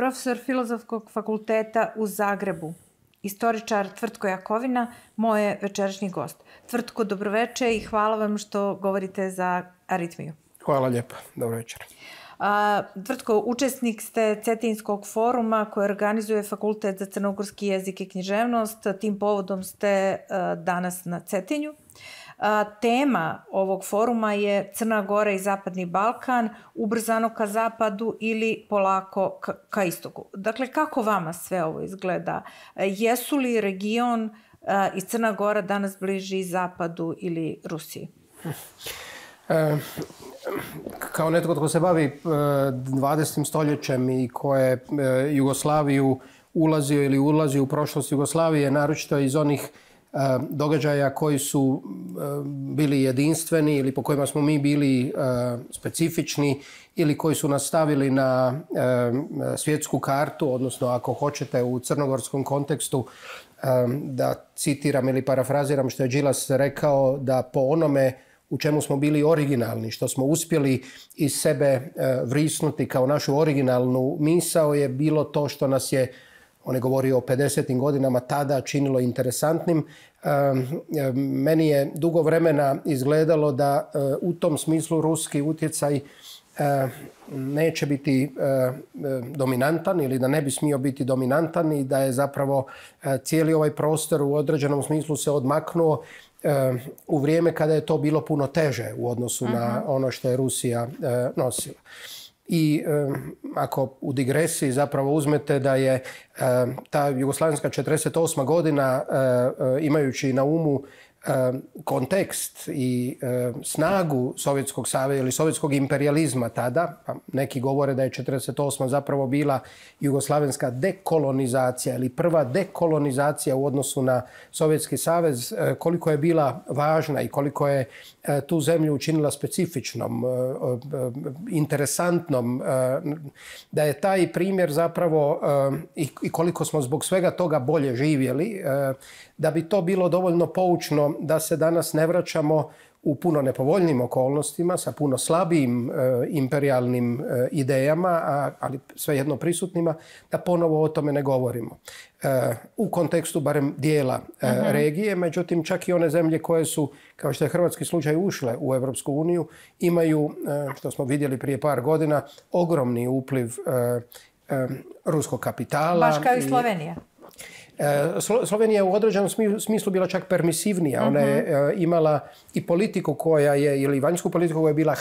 profesor Filozofskog fakulteta u Zagrebu, istoričar Tvrtko Jakovina, moj je večerašnji gost. Tvrtko, dobroveče i hvala vam što govorite za Aritmiju. Hvala lijepa, dobro večer. Tvrtko, učesnik ste Cetinskog foruma koji organizuje Fakultet za crnogorski jezik i književnost. Tim povodom ste danas na Cetinju. Tema ovog foruma je Crna Gora i Zapadni Balkan, ubrzano ka zapadu ili polako ka istoku. Dakle, kako vama sve ovo izgleda? Jesu li region i Crna Gora danas bliži zapadu ili Rusiji? Kao netko tko se bavi 20. stoljećem i ko je Jugoslaviju ulazio ili ulazi u prošlost Jugoslavije, naročito iz onih događaja koji su bili jedinstveni ili po kojima smo mi bili specifični ili koji su nas stavili na svjetsku kartu, odnosno ako hoćete u crnogorskom kontekstu, da citiram ili parafraziram što je Đilas rekao, da po onome u čemu smo bili originalni, što smo uspjeli iz sebe vrisnuti kao našu originalnu misao, je bilo to što nas je, on je govorio o 50. godinama, tada činilo interesantnim. Meni je dugo vremena izgledalo da u tom smislu ruski utjecaj neće biti dominantan ili da ne bi smio biti dominantan i da je zapravo cijeli ovaj prostor u određenom smislu se odmaknuo u vrijeme kada je to bilo puno teže u odnosu na ono što je Rusija nosila. I ako u digresiji zapravo uzmete da je ta jugoslavenska 48. godina, imajući na umu kontekst i snagu Sovjetskog saveza ili sovjetskog imperijalizma tada, pa neki govore da je 48. zapravo bila jugoslavenska dekolonizacija ili prva dekolonizacija u odnosu na Sovjetski savez, koliko je bila važna i koliko je tu zemlju učinila specifičnom, interesantnom, da je taj primjer zapravo i koliko smo zbog svega toga bolje živjeli, da bi to bilo dovoljno poučno da se danas ne vraćamo u puno nepovoljnim okolnostima, sa puno slabijim imperijalnim idejama, ali svejedno prisutnima, da ponovo o tome ne govorimo. U kontekstu barem dijela regije, međutim čak i one zemlje koje su, kao što je hrvatski slučaj, ušle u Europsku uniju, imaju, što smo vidjeli prije par godina, ogromni upliv ruskog kapitala. Baš kao i Slovenija. Slovenija je u određenom smislu bila čak permisivnija. Ona je imala i politiku koja je, ili vanjsku politiku koja je bila,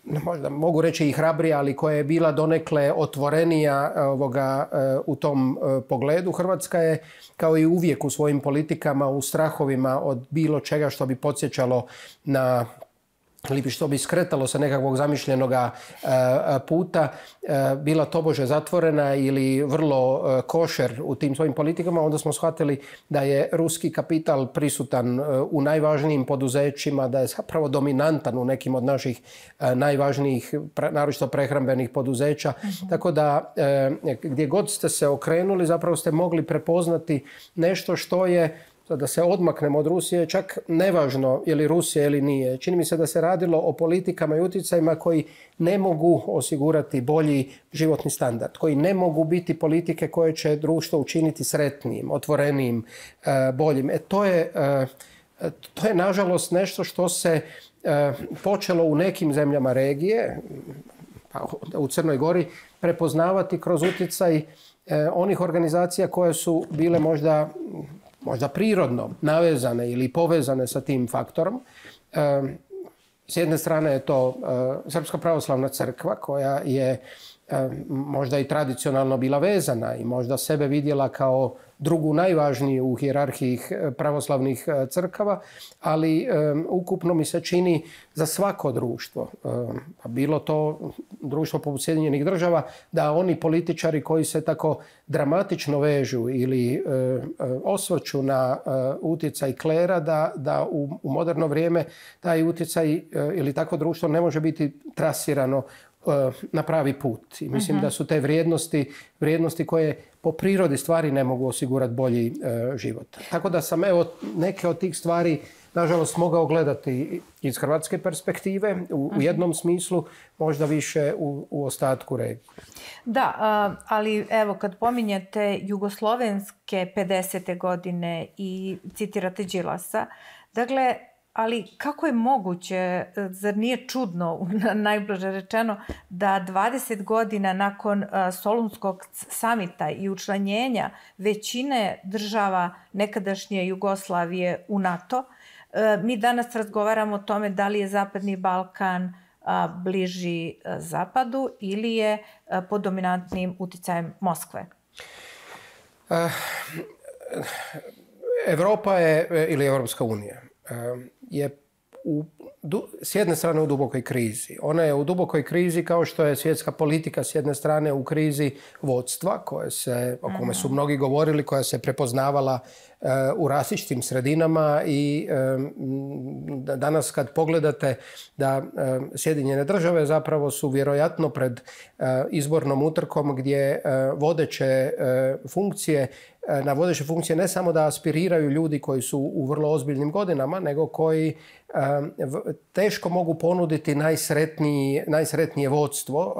možda mogu reći i hrabrija, ali koja je bila donekle otvorenija u tom pogledu. Hrvatska je, kao i uvijek u svojim politikama, u strahovima od bilo čega što bi podsjećalo na ili što bi skretalo sa nekakvog zamišljenog puta, bila tobože zatvorena ili vrlo košer u tim svojim politikama, onda smo shvatili da je ruski kapital prisutan u najvažnijim poduzećima, da je zapravo dominantan u nekim od naših najvažnijih, naročito prehrambenih poduzeća. Tako da gdje god ste se okrenuli, zapravo ste mogli prepoznati nešto što je, da se odmaknemo od Rusije, čak nevažno je li Rusija ili nije. Čini mi se da se radilo o politikama i utjecajima koji ne mogu osigurati bolji životni standard, koji ne mogu biti politike koje će društvo učiniti sretnijim, otvorenijim, boljim. To je nažalost nešto što se počelo u nekim zemljama regije, pa u Crnoj Gori, prepoznavati kroz utjecaj onih organizacija koje su bile možda prirodno navezane ili povezane sa tim faktorom. S jedne strane je to Srpska pravoslavna crkva koja je možda i tradicionalno bila vezana i možda sebe vidjela kao drugu najvažniju u hijerarhiji pravoslavnih crkava, ali ukupno mi se čini za svako društvo, bilo to društvo poput Sjedinjenih Država, da oni političari koji se tako dramatično vežu ili osvrću na utjecaj klera, da u moderno vrijeme taj utjecaj ili takvo društvo ne može biti trasirano na pravi put. I mislim da su te vrijednosti koje po prirodi stvari ne mogu osigurati bolji život. Tako da sam neke od tih stvari nažalost mogao gledati iz hrvatske perspektive u jednom smislu, možda više u ostatku regije. Da, ali evo kad pominjete jugoslovenske 50. godine i citirate Đilasa, dakle, ali kako je moguće, zar nije čudno, najblaže rečeno, da 20 godina nakon Solunskog samita i učlanjenja većine država nekadašnje Jugoslavije u NATO, mi danas razgovaramo o tome da li je Zapadni Balkan bliži Zapadu ili je pod dominantnim uticajem Moskve? Evropa je, ili Evropska unija, je s jedne strane u dubokoj krizi. Ona je u dubokoj krizi kao što je svjetska politika s jedne strane u krizi vodstva, o kome su mnogi govorili, koja se prepoznavala u različitim sredinama i danas kad pogledate da Sjedinjene države zapravo su vjerojatno pred izbornom utrkom gdje na vodeće funkcije ne samo da aspiriraju ljudi koji su u vrlo ozbiljnim godinama, nego koji teško mogu ponuditi najsretnije vodstvo.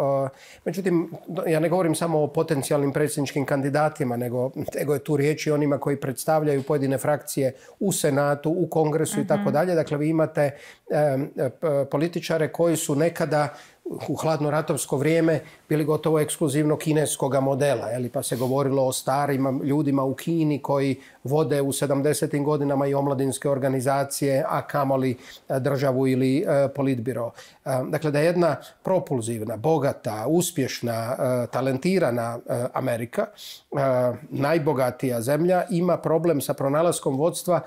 Međutim, ja ne govorim samo o potencijalnim predsjedničkim kandidatima, nego je tu riječ i onima koji predstavljaju pojedine frakcije u Senatu, u Kongresu i tako dalje. Dakle, vi imate političare koji su nekada u hladnoratovsko vrijeme bili gotovo ekskluzivno kineskog modela. Pa se govorilo o starim ljudima u Kini koji vode u 70. godinama i omladinske organizacije, a kamoli državu ili politbiro. Dakle, da je jedna propulzivna, bogata, uspješna, talentirana Amerika, najbogatija zemlja, ima problem sa pronalaskom vodstva,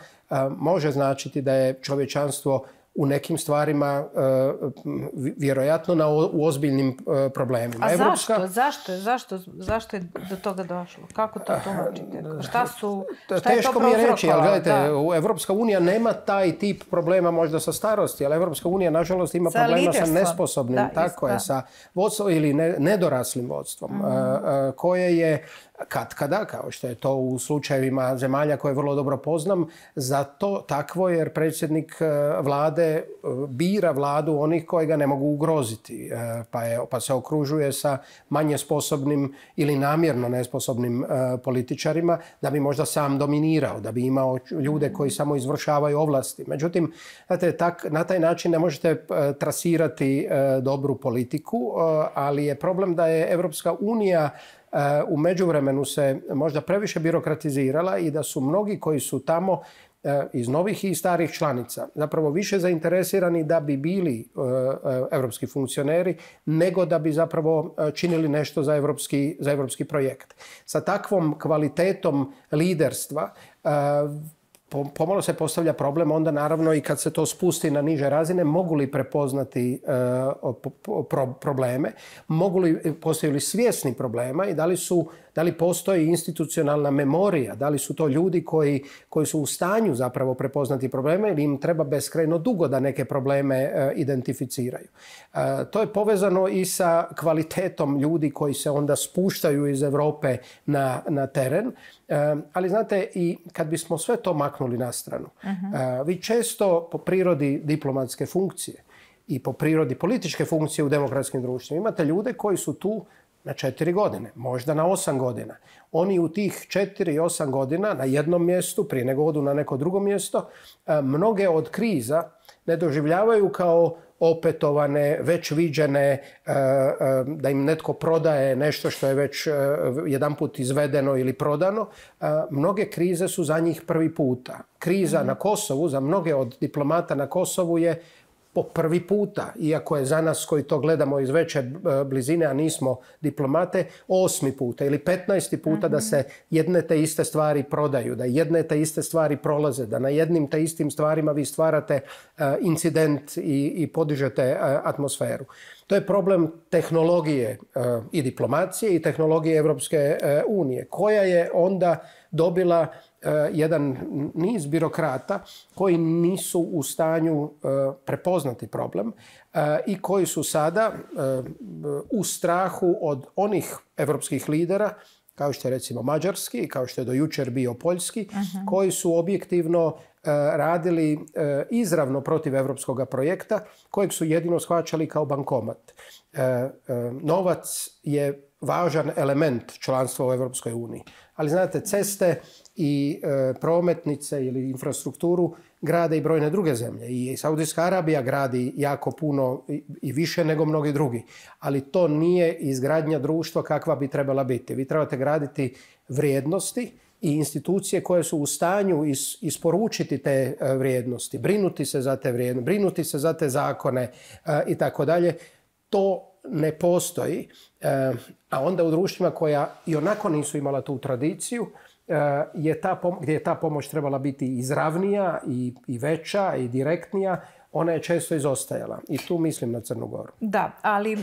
može značiti da je čovječanstvo u nekim stvarima vjerojatno u ozbiljnim problemima. A zašto je do toga došlo? Kako to tumačite? Šta je to teško mi je reći, ali gledajte, Evropska unija nema taj tip problema možda sa starosti, ali Evropska unija nažalost ima problema sa nesposobnim, sa vodstvom ili nedoraslim vodstvom, koje je katkada, kao što je to u slučajevima zemalja koje vrlo dobro poznam, zato takvo jer predsjednik vlade bira vladu onih koji ga ne mogu ugroziti, pa se okružuje sa manje sposobnim ili namjerno nesposobnim političarima da bi možda sam dominirao, da bi imao ljude koji samo izvršavaju ovlasti. Međutim, na taj način ne možete trasirati dobru politiku, ali je problem da je Evropska unija u međuvremenu se možda previše birokratizirala i da su mnogi koji su tamo iz novih i starih članica zapravo više zainteresirani da bi bili evropski funkcioneri nego da bi zapravo činili nešto za evropski projekt. Sa takvom kvalitetom liderstva pomalo se postavlja problem onda naravno i kad se to spusti na niže razine, mogu li prepoznati probleme, postaju li svjesni problema i da li postoji institucionalna memorija, da li su to ljudi koji su u stanju zapravo prepoznati probleme ili im treba beskrajno dugo da neke probleme identificiraju. To je povezano i sa kvalitetom ljudi koji se onda spuštaju iz Europe na teren, ali znate i kad bismo sve to maknuli na stranu, vi često po prirodi diplomatske funkcije i po prirodi političke funkcije u demokratskim društvima imate ljude koji su tu na 4 godine, možda na 8 godina. Oni u tih 4 i 8 godina na jednom mjestu, prije nego odu na neko drugo mjesto, mnoge od kriza ne doživljavaju kao opetovane, već viđene, da im netko prodaje nešto što je već jedanput izvedeno ili prodano. Mnoge krize su za njih prvi puta. Kriza na Kosovu, za mnoge od diplomata na Kosovu je po prvi puta, iako je za nas koji to gledamo iz veće blizine, a nismo diplomate, 8. puta ili 15. puta da se jedne te iste stvari prodaju, da jedne te iste stvari prolaze, da na jednim te istim stvarima vi stvarate incident i podižete atmosferu. To je problem tehnologije i diplomacije i tehnologije Evropske unije, koja je onda dobila jedan niz birokrata koji nisu u stanju prepoznati problem i koji su sada u strahu od onih evropskih lidera, kao što je recimo mađarski, kao što je do jučer bio poljski, koji su objektivno radili izravno protiv evropskog projekta, kojeg su jedino shvaćali kao bankomat. Novac je važan element članstva u Evropskoj uniji. Ali znate, ceste i prometnice ili infrastrukturu grade i brojne druge zemlje. I Saudijska Arabija gradi jako puno i više nego mnogi drugi. Ali to nije izgradnja društva kakva bi trebala biti. Vi trebate graditi vrijednosti i institucije koje su u stanju isporučiti te vrijednosti, brinuti se za te vrijednosti, brinuti se za te zakone i tako dalje. To ne postoji, a onda u društvima koja i onako nisu imala tu tradiciju, gdje je ta pomoć trebala biti izravnija i veća i direktnija, ona je često izostajala. I tu mislim na Crnu Goru. Da, ali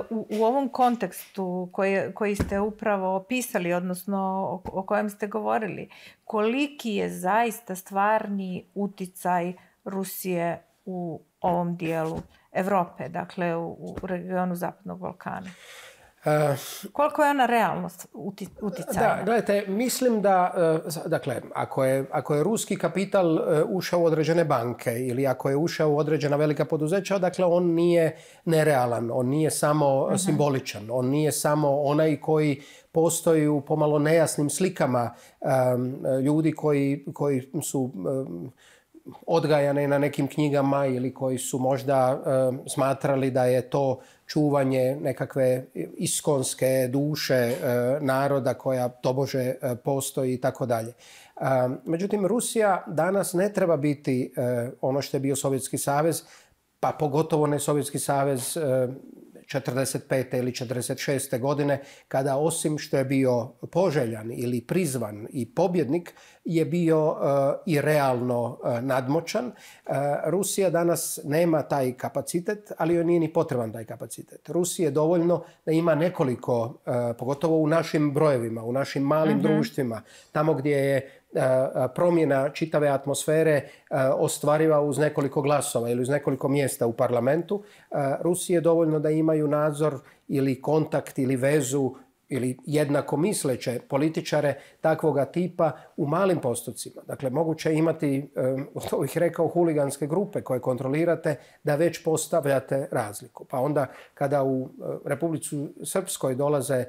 u ovom kontekstu koji ste upravo opisali, odnosno o kojem ste govorili, koliki je zaista stvarni uticaj Rusije u ovom dijelu Evrope, dakle u regionu Zapadnog Balkana? Koliko je ona realno uticajna? Da, gledajte, mislim da, dakle, ako je ruski kapital ušao u određene banke ili ako je ušao u određena velika poduzeća, dakle, on nije nerealan, on nije samo simboličan, on nije samo onaj koji postoji u pomalo nejasnim slikama ljudi koji su odgajane na nekim knjigama ili koji su možda smatrali da je to čuvanje nekakve iskonske duše naroda koja tobože postoji i tako dalje. Međutim, Rusija danas ne treba biti ono što je bio Sovjetski savez, pa pogotovo ne Sovjetski savez 45. ili 46. godine, kada osim što je bio poželjan ili prizvan i pobjednik, je bio i realno nadmoćan. Rusija danas nema taj kapacitet, ali joj nije ni potreban taj kapacitet. Rusiji je dovoljno da ima nekoliko, pogotovo u našim brojevima, u našim malim društvima, tamo gdje je promjena čitave atmosfere ostvariva uz nekoliko glasova ili uz nekoliko mjesta u parlamentu. Rusiji je dovoljno da imaju nadzor ili kontakt ili vezu ili jednako misleće političare takvoga tipa u malim postocima. Dakle, moguće imati, to bih rekao, huliganske grupe koje kontrolirate da već postavljate razliku. Pa onda kada u Republici Srpskoj dolaze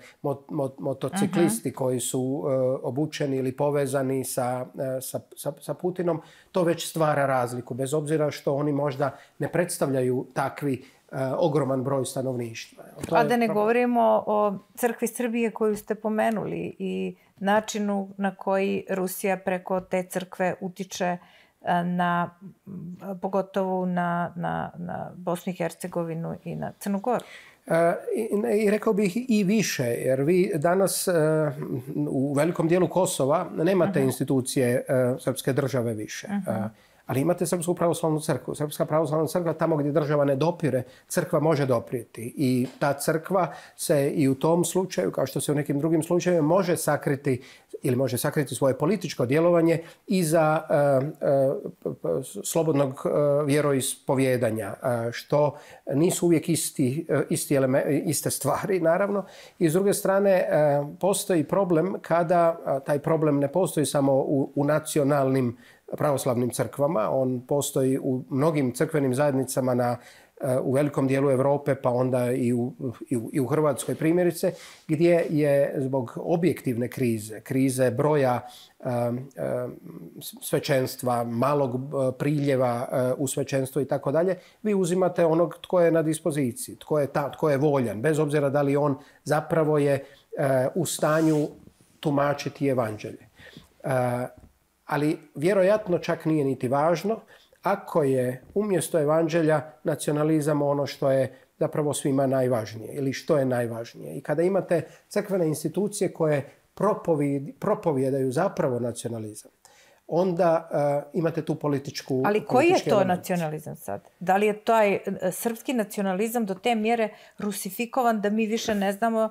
motociklisti koji su obučeni ili povezani sa Putinom, to već stvara razliku, bez obzira što oni možda ne predstavljaju takvi ogroman broj stanovništva. A da ne govorimo o crkvi Srbije koju ste pomenuli i načinu na koji Rusija preko te crkve utiče pogotovo na Bosnu i Hercegovinu i na Crnu Goru. I rekao bih i više, jer vi danas u velikom dijelu Kosova nemate institucije srpske države više. Ali imate Srpsku pravoslavnu crkvu. Srpska pravoslavna crkva, tamo gdje država ne dopire, crkva može doprijeti. I ta crkva se i u tom slučaju, kao što se u nekim drugim slučajevima, može sakriti svoje političko djelovanje iza slobodnog vjeroispovjedanja, što nisu uvijek iste stvari, naravno. I s druge strane, postoji problem kada taj problem ne postoji samo u nacionalnim pravoslavnim crkvama. On postoji u mnogim crkvenim zajednicama u velikom dijelu Europe, pa onda i u Hrvatskoj primjerice, gdje je zbog objektivne krize broja svećenstva, malog priljeva u svećenstvo i tako dalje, vi uzimate onog tko je na dispoziciji, tko je voljan, bez obzira da li on zapravo je u stanju tumačiti evanđelje. Ali vjerojatno čak nije niti važno ako je umjesto evanđelja nacionalizam ono što je zapravo svima najvažnije ili što je najvažnije. I kada imate crkvene institucije koje propovijedaju zapravo nacionalizam, onda imate tu političku... Ali koji je to nacionalizam sad? Da li je taj srpski nacionalizam do te mjere rusifikovan da mi više ne znamo,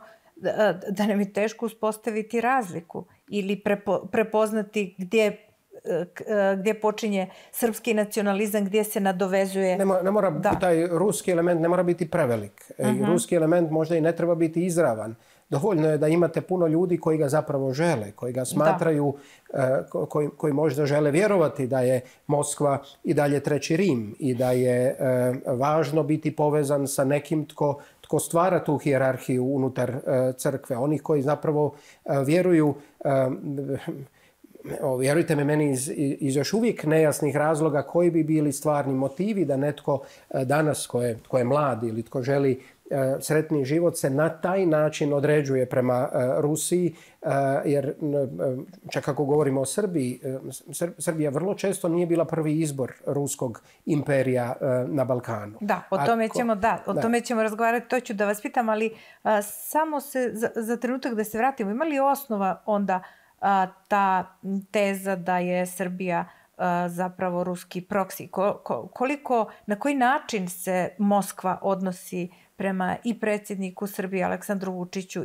da nam je teško uspostaviti razliku ili prepoznati gdje počinje srpski nacionalizam, gdje se nadovezuje... Ne mora, taj ruski element ne mora biti prevelik. Ruski element možda i ne treba biti izravan. Dovoljno je da imate puno ljudi koji ga zapravo žele, koji ga smatraju, koji možda žele vjerovati da je Moskva i dalje treći Rim i da je važno biti povezan sa nekim tko stvara tu hijerarhiju unutar crkve. Oni koji zapravo vjeruju, vjerujte me, meni iz još uvijek nejasnih razloga koji bi bili stvarni motivi da netko danas tko je mlad ili tko želi sretni život se na taj način određuje prema Rusiji, jer čak ako govorimo o Srbiji, Srbija vrlo često nije bila prvi izbor ruskog imperija na Balkanu. Da, o tome ćemo razgovarati, to ću da vas pitam, ali samo se za trenutak da se vratimo. Ima li osnova onda ta teza da je Srbija zapravo ruski proksi? Na koji način se Moskva odnosi prema i predsjedniku Srbije Aleksandru Vučiću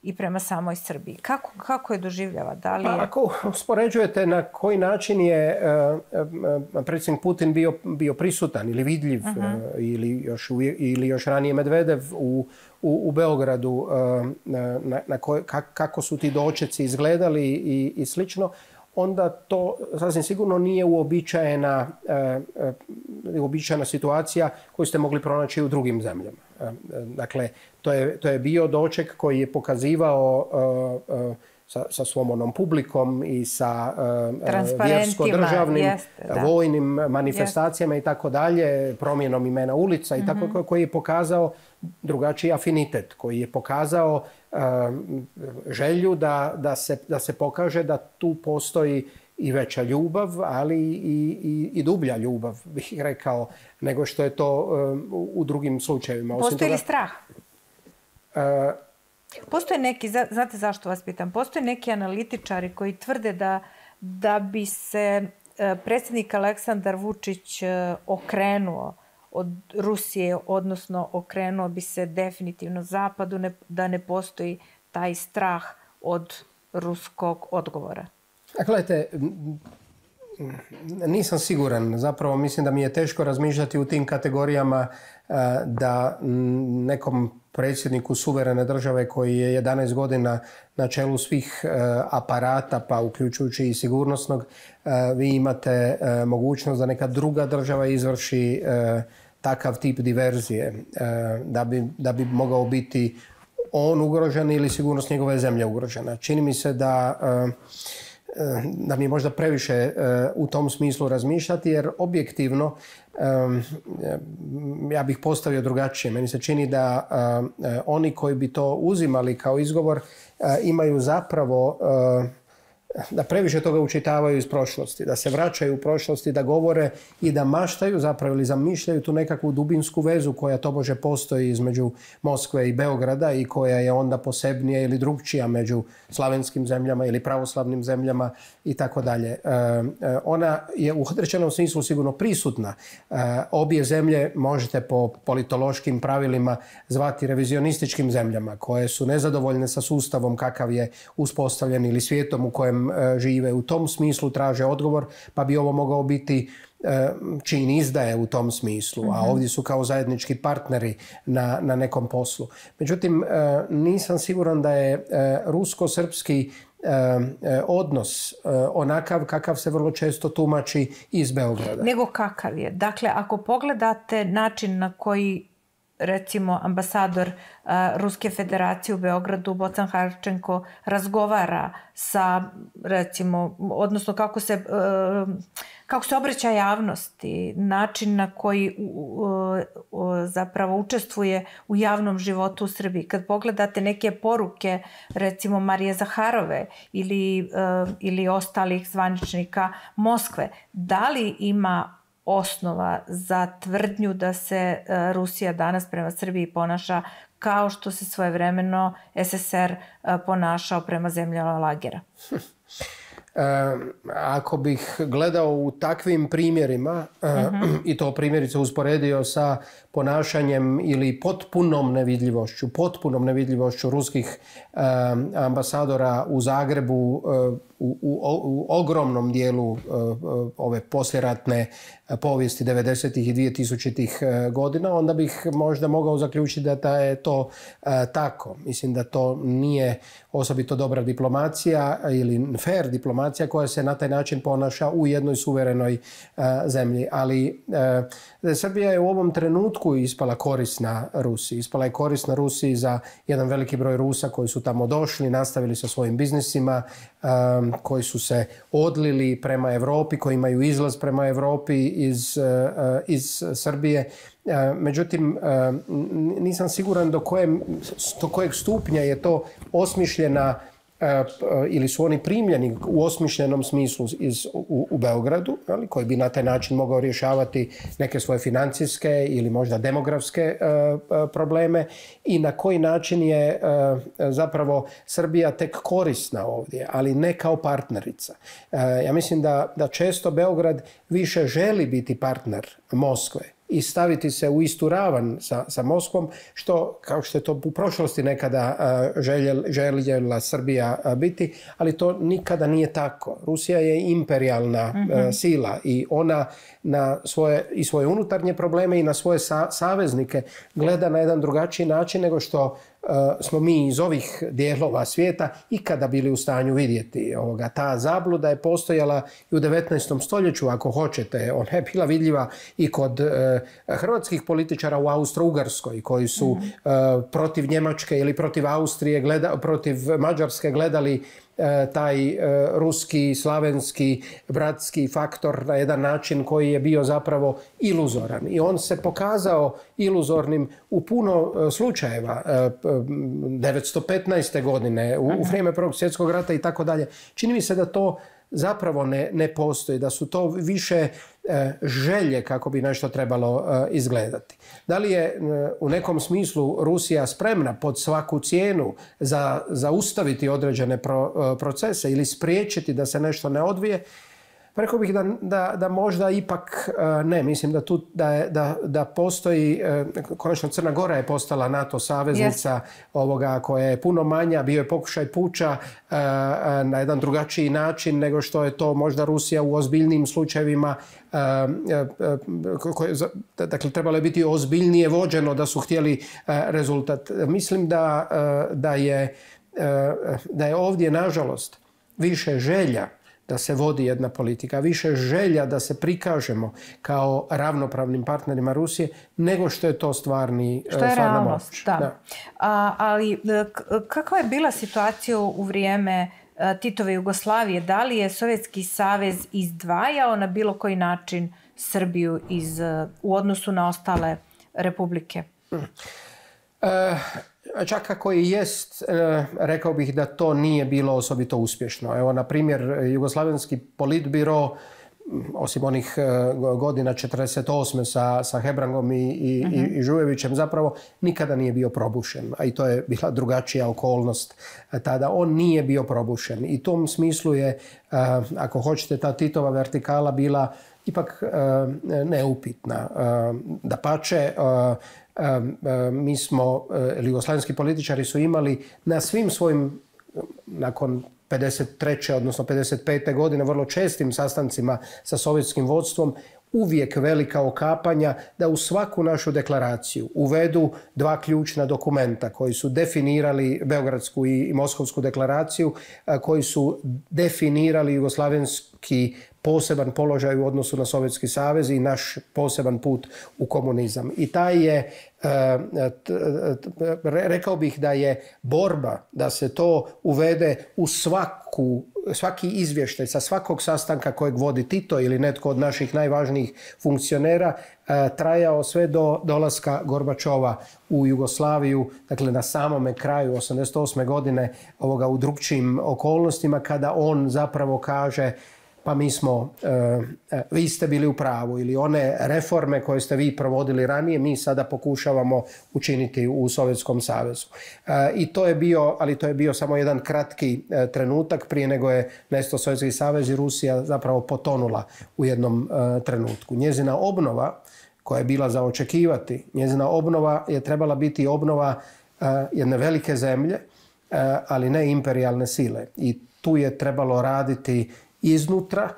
i prema samoj Srbiji? Kako je doživljava? Ako uspoređujete na koji način je predsjednik Putin bio prisutan ili vidljiv ili još ranije Medvedev u Beogradu, kako su ti dočeci izgledali i slično, onda to sasvim sigurno nije uobičajena situacija koju ste mogli pronaći u drugim zemljama. Dakle, to je bio doček koji je pokazivao sa svom onom publikom i sa vjersko-državnim vojnim manifestacijama i tako dalje, promjenom imena ulica i tako, koji je pokazao drugačiji afinitet, koji je pokazao želju da se pokaže da tu postoji i veća ljubav, ali i dublja ljubav, bih rekao, nego što je to u drugim slučajevima. Postoji li strah? Postoje neki, znate zašto vas pitam, postoje neki analitičari koji tvrde da bi se predsjednik Aleksandar Vučić okrenuo od Rusije, odnosno okrenuo bi se definitivno zapadu, da ne postoji taj strah od ruskog odgovora. Gledajte, nisam siguran. Zapravo mislim da mi je teško razmišljati u tim kategorijama da nekom predsjedniku suverene države koji je 11 godina na čelu svih aparata, pa uključujući i sigurnosnog, vi imate mogućnost da neka druga država izvrši takav tip diverzije, da bi mogao biti on ugrožen ili sigurnost njegove zemlje ugrožena. Čini mi se da mi je možda previše u tom smislu razmišljati, jer objektivno ja bih postavio drugačije. Meni se čini da oni koji bi to uzimali kao izgovor imaju zapravo da previše toga učitavaju iz prošlosti, da se vraćaju u prošlosti, da govore i da maštaju zapravo ili zamišljaju tu nekakvu dubinsku vezu koja tobože postoji između Moskve i Beograda i koja je onda posebnija ili drugčija među slavenskim zemljama ili pravoslavnim zemljama i tako dalje. Ona je u određenom smislu sigurno prisutna. Obje zemlje možete po politološkim pravilima zvati revizionističkim zemljama koje su nezadovoljne sa sustavom kakav je uspostavljen ili svijetom u kojem žive. U tom smislu traže odgovor, pa bi ovo mogao biti čin izdaje u tom smislu, a ovdje su kao zajednički partneri na nekom poslu. Međutim, nisam siguran da je rusko-srpski odnos onakav kakav se vrlo često tumači iz Beograda. Nego kakav je? Dakle, ako pogledate način na koji recimo ambasador Ruske federacije u Beogradu, Bocan Harčenko, razgovara sa, recimo, odnosno kako se obraća javnosti, način na koji zapravo učestvuje u javnom životu u Srbiji. Kad pogledate neke poruke, recimo Marije Zaharove ili ostalih zvaničnika Moskve, da li ima osnova za tvrdnju da se Rusija danas prema Srbiji ponaša kao što se svojevremeno SSR ponašao prema zemljama lagera? ako bih gledao u takvim primjerima i to primjerice usporedio sa ponašanjem ili potpunom nevidljivošću ruskih ambasadora u Zagrebu u ogromnom dijelu ove poslijeratne povijesti 90. i 2000. godina, onda bih možda mogao zaključiti da je to tako. Mislim da to nije osobito dobra diplomacija ili fair diplomacija koja se na taj način ponaša u jednoj suverenoj zemlji. Ali Srbija je u ovom trenutku ispala korisna Rusiji. Ispala je korisna Rusiji za jedan veliki broj Rusa koji su tamo došli, nastavili sa svojim biznisima, koji su se odlili prema Europi, koji imaju izlaz prema Europi iz Srbije. Međutim, nisam siguran do kojeg stupnja je to osmišljena ili su oni primljeni u osmišljenom smislu u Beogradu, koji bi na taj način mogao rješavati neke svoje financijske ili možda demografske probleme i na koji način je zapravo Srbija tek korisna ovdje, ali ne kao partnerica. Ja mislim da često Beograd više želi biti partner Moskve i staviti se u istu ravan sa Moskvom, kao što je to u prošlosti nekada željela Srbija biti, ali to nikada nije tako. Rusija je imperijalna sila i ona na svoje unutarnje probleme i na svoje saveznike gleda na jedan drugačiji način nego što smo mi iz ovih dijelova svijeta ikada bili u stanju vidjeti. Ta zabluda je postojala i u 19. stoljeću, ako hoćete. Ona je bila vidljiva i kod hrvatskih političara u Austro-Ugarskoj koji su protiv Njemačke ili protiv Austrije, protiv Mađarske gledali taj ruski, slavenski, bratski faktor na jedan način koji je bio zapravo iluzoran. I on se pokazao iluzornim u puno slučajeva. 1915. godine, u vrijeme Prvog svjetskog rata i tako dalje. Čini mi se da to zapravo ne postoji, da su to više želje kako bi nešto trebalo izgledati. Da li je u nekom smislu Rusija spremna pod svaku cijenu zaustaviti određene procese ili spriječiti da se nešto ne odvije? Rekao bih da možda ipak ne. Mislim da postoji, konačno Crna Gora je postala NATO saveznica koja je puno manja, bio je pokušaj puča na jedan drugačiji način nego što je to možda Rusija u ozbiljnim slučajevima. Dakle, trebalo je biti ozbiljnije vođeno da su htjeli rezultat. Mislim da je ovdje, nažalost, više želja da se vodi jedna politika, više želja da se prikažemo kao ravnopravnim partnerima Rusije, nego što je to stvarna realnost, da. Ali kakva je bila situacija u vrijeme Titove Jugoslavije? Da li je Sovjetski savez izdvajao na bilo koji način Srbiju u odnosu na ostale republike? Čak ako i jest, rekao bih da to nije bilo osobito uspješno. Evo, na primjer, Jugoslavenski politbiro, osim onih godina 1948. sa Hebrangom i Žujevićem, zapravo nikada nije bio probušen. A i to je bila drugačija okolnost tada. On nije bio probušen. I u tom smislu je, ako hoćete, ta Titova vertikala bila ipak neupitna. Dapače, mi smo, jugoslavenski političari su imali na svim svojim, nakon 53. odnosno 55. godine, vrlo čestim sastancima sa sovjetskim vodstvom, uvijek velika okapanja da u svaku našu deklaraciju uvedu dva ključna dokumenta koji su definirali Beogradsku i Moskovsku deklaraciju, koji su definirali jugoslavenski poseban položaj u odnosu na Sovjetski savez i naš poseban put u komunizam. I taj je, rekao bih da je borba da se to uvede u svaki izvještaj sa svakog sastanka kojeg vodi Tito ili netko od naših najvažnijih funkcionera trajao sve do dolaska Gorbačova u Jugoslaviju, dakle na samome kraju 1988. godine u drugčijim okolnostima, kada on zapravo kaže: pa vi ste bili u pravu, ili one reforme koje ste vi provodili ranije, mi sada pokušavamo učiniti u Sovjetskom savezu. I to je bio samo jedan kratki trenutak prije nego je nestao Sovjetski savez i Rusija zapravo potonula u jednom trenutku. Njezina obnova, koja je bila za očekivati, njezina obnova je trebala biti obnova jedne velike zemlje, ali ne imperijalne sile. I tu je trebalo raditi iznutra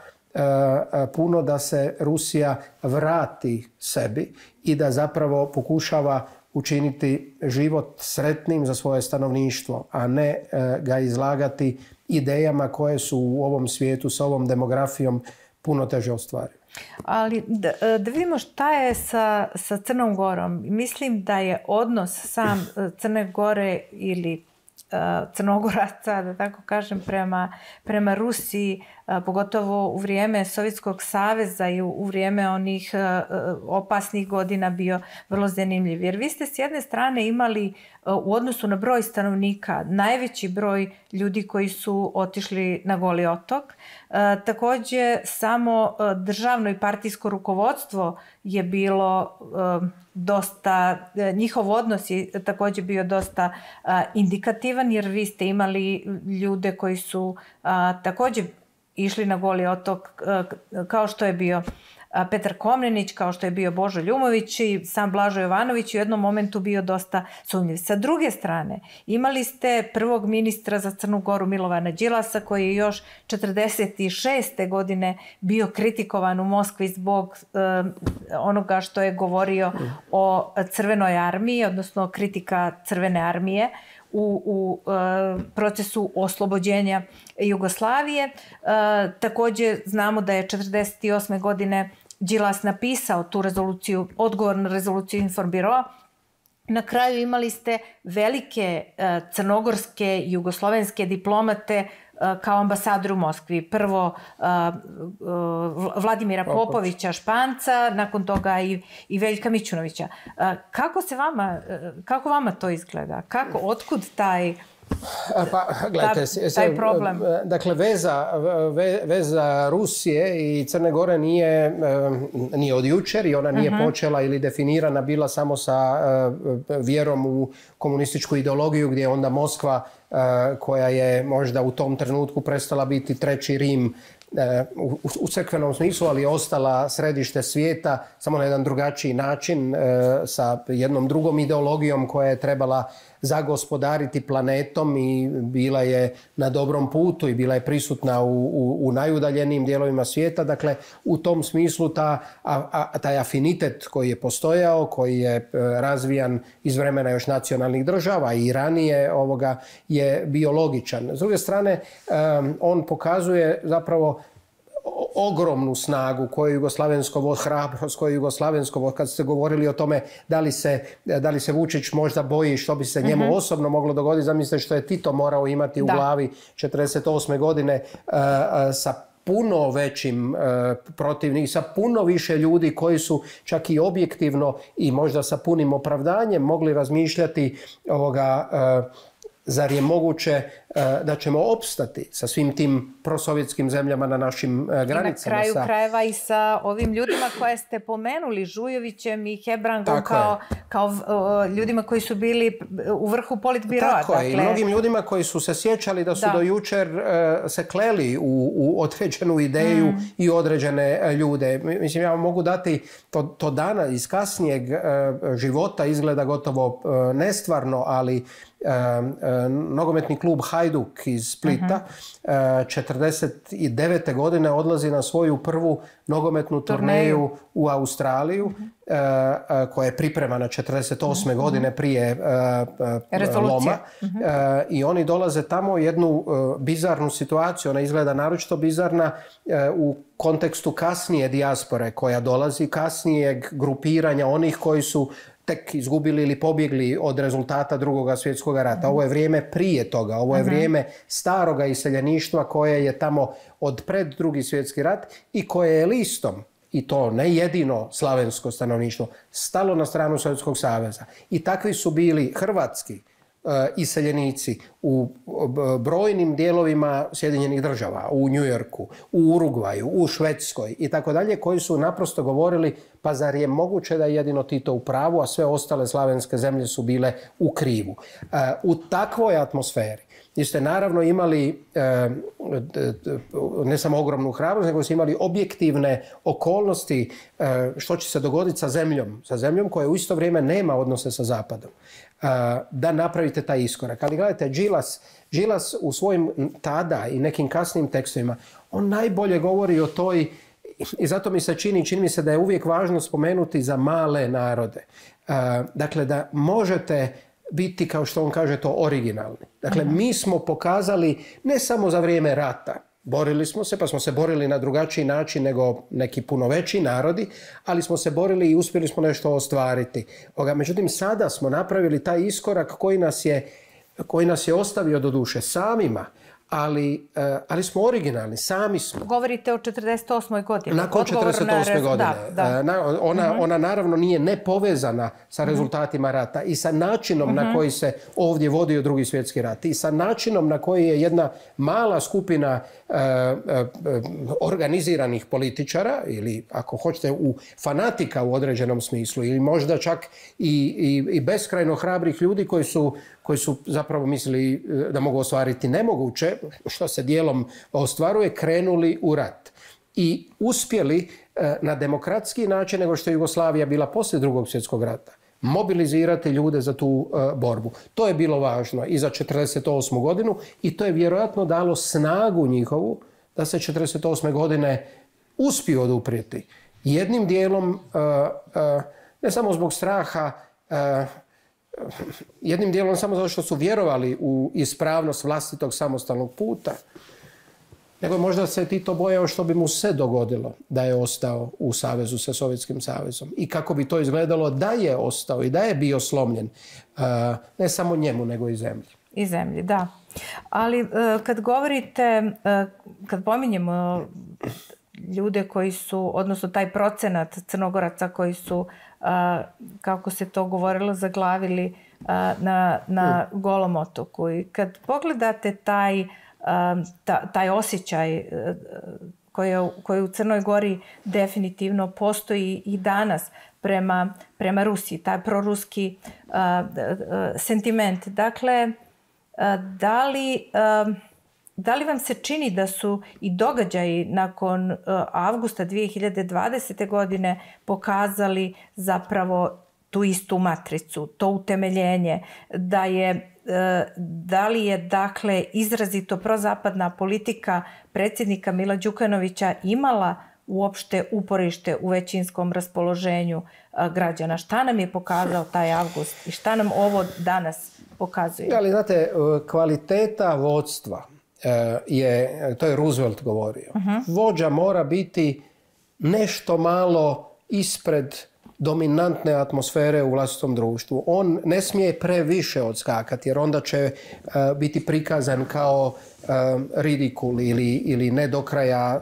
puno da se Rusija vrati sebi i da zapravo pokušava učiniti život sretnim za svoje stanovništvo, a ne ga izlagati idejama koje su u ovom svijetu sa ovom demografijom puno teže ostvariti. Ali da vidimo šta je sa Crnom Gorom. Mislim da je odnos sam Crne Gore ili Crnogoraca, da tako kažem, prema Rusiji, pogotovo u vrijeme Sovjetskog saveza i u vrijeme onih opasnih godina bio vrlo zanimljiv. Jer vi ste s jedne strane imali u odnosu na broj stanovnika najveći broj ljudi koji su otišli na Goli otok. Također samo državno i partijsko rukovodstvo je bilo dosta, njihov odnos je također bio dosta indikativan, jer vi ste imali ljude koji su također išli na Goli otok, kao što je bio Petar Komnenić, kao što je bio Božo Ljumović i sam Blažo Jovanović u jednom momentu bio dosta sumnjiv. Sa druge strane, imali ste prvog ministra za Crnu Goru Milovana Đilasa, koji je još 1946. godine bio kritikovan u Moskvi zbog onoga što je govorio o Crvenoj armiji, odnosno kritika Crvene armije u procesu oslobođenja Jugoslavije. Također znamo da je 1948. godine Đilas napisao tu rezoluciju, odgovor na rezoluciju Informbiroa. Na kraju imali ste velike crnogorske i jugoslovenske diplomate kao ambasador u Moskvi. Prvo Vladimira Popovića Španca, nakon toga i Veljka Mićunovića. Kako vama to izgleda? Otkud taj problem? Dakle, veza Rusije i Crne Gore nije od jučer i ona nije počela ili definirana bila samo sa vjerom u komunističku ideologiju, gdje je onda Moskva, koja je možda u tom trenutku prestala biti treći Rim u crkvenom smislu, ali je ostala središte svijeta, samo na jedan drugačiji način, sa jednom drugom ideologijom koja je trebala zagospodariti planetom i bila je na dobrom putu i bila je prisutna u najudaljenijim dijelovima svijeta. Dakle, u tom smislu taj afinitet koji je postojao, koji je razvijan iz vremena još nacionalnih država i ranije je bio logičan. S druge strane, on pokazuje zapravo ogromnu snagu koju jugoslavensko hrabrost, koju jugoslavensko, kad ste govorili o tome da li se Vučić možda boji što bi se njemu osobno moglo dogoditi, zamislite što je Tito morao imati u glavi 1948. godine sa puno većim protivnikom, sa puno više ljudi koji su čak i objektivno i možda sa punim opravdanjem mogli razmišljati zar je moguće da ćemo opstati sa svim tim prosovjetskim zemljama na našim granicama. I na kraju krajeva i sa ovim ljudima koje ste pomenuli, Žujovićem i Hebrangom, kao ljudima koji su bili u vrhu politbiroa. Tako je, i mnogim ljudima koji su se sjećali da su do jučer se kleli u određenu ideju i određene ljude. Mislim, ja vam mogu dati to dana iz kasnijeg života izgleda gotovo nestvarno, ali nogometni klub Hajduk iz Splita 1949. godine odlazi na svoju prvu nogometnu turneju u Australiju, koja je pripremana 1948. godine prije loma. I oni dolaze tamo u jednu bizarnu situaciju. Ona izgleda naročito bizarna u kontekstu kasnije dijaspore koja dolazi, kasnijeg grupiranja onih koji su tek izgubili ili pobjegli od rezultata Drugog svjetskog rata. Ovo je vrijeme prije toga, ovo je vrijeme staroga iseljeništva koje je tamo od pred Drugi svjetski rat i koje je listom, i to ne jedino slavensko stanovništvo, stalo na stranu Sovjetskog saveza. I takvi su bili hrvatski iseljenici u brojnim dijelovima Sjedinjenih država, u Njujorku, u Urugvaju, u Švedskoj i tako dalje, koji su naprosto govorili pa zar je moguće da je jedino Tito u pravu, a sve ostale slavenske zemlje su bile u krivu. U takvoj atmosferi ste naravno imali ne samo ogromnu hrabrost, nego ste imali objektivne okolnosti što će se dogoditi sa zemljom koja u isto vrijeme nema odnose sa Zapadom, da napravite taj iskorak. Ali gledajte, Gilas u svojim tada i nekim kasnim tekstovima, on najbolje govori o toj, i zato mi se čini mi se da je uvijek važno spomenuti za male narode. Dakle, da možete biti, kao što on kaže, to originalni. Dakle, mi smo pokazali ne samo za vrijeme rata, borili smo se, pa smo se borili na drugačiji način nego neki puno veći narodi, ali smo se borili i uspjeli smo nešto ostvariti. Međutim, sada smo napravili taj iskorak koji nas je ostavio do duše samima, ali smo originalni, sami smo. Govorite o 48. godini. Nakon 48. godine. Ona naravno nije nepovezana sa rezultatima rata i sa načinom na koji se ovdje vodio Drugi svjetski rat i sa načinom na koji je jedna mala skupina organiziranih političara ili ako hoćete fanatika u određenom smislu ili možda čak i beskrajno hrabrih ljudi koji su zapravo mislili da mogu ostvariti nemoguće, što se dijelom ostvaruje, krenuli u rat. I uspjeli na demokratski način, nego što je Jugoslavija bila poslije Drugog svjetskog rata, mobilizirati ljude za tu borbu. To je bilo važno i za 1948. godinu i to je vjerojatno dalo snagu njihovu da se 1948. godine uspiju oduprijeti. Jednim dijelom, ne samo zbog straha, jednim dijelom samo zato što su vjerovali u ispravnost vlastitog samostalnog puta, nego možda se Tito bojao što bi mu se dogodilo da je ostao u savezu sa Sovjetskim savezom i kako bi to izgledalo da je ostao i da je bio slomljen, ne samo njemu nego i zemlji. I zemlji, da. Ali kad govorite, kad pominjemo ljude koji su, odnosno taj procenat Crnogoraca koji su, kako se to govorilo, zaglavili na Golom otoku. I kad pogledate taj osjećaj koji u Crnoj Gori definitivno postoji i danas prema Rusiji, taj proruski sentiment. Dakle, da li vam se čini da su i događaji nakon avgusta 2020. godine pokazali zapravo tu istu matricu, to utemeljenje, da li je dakle izrazito prozapadna politika predsjednika Mila Đukanovića imala uopšte uporište u većinskom raspoloženju građana? Šta nam je pokazao taj avgust i šta nam ovo danas pokazuje? Ali znate, kvaliteta vodstva to je Roosevelt govorio. Vođa mora biti nešto malo ispred dominantne atmosfere u vlastitom društvu. On ne smije previše odskakati jer onda će biti prikazan kao ridikul ili ne do kraja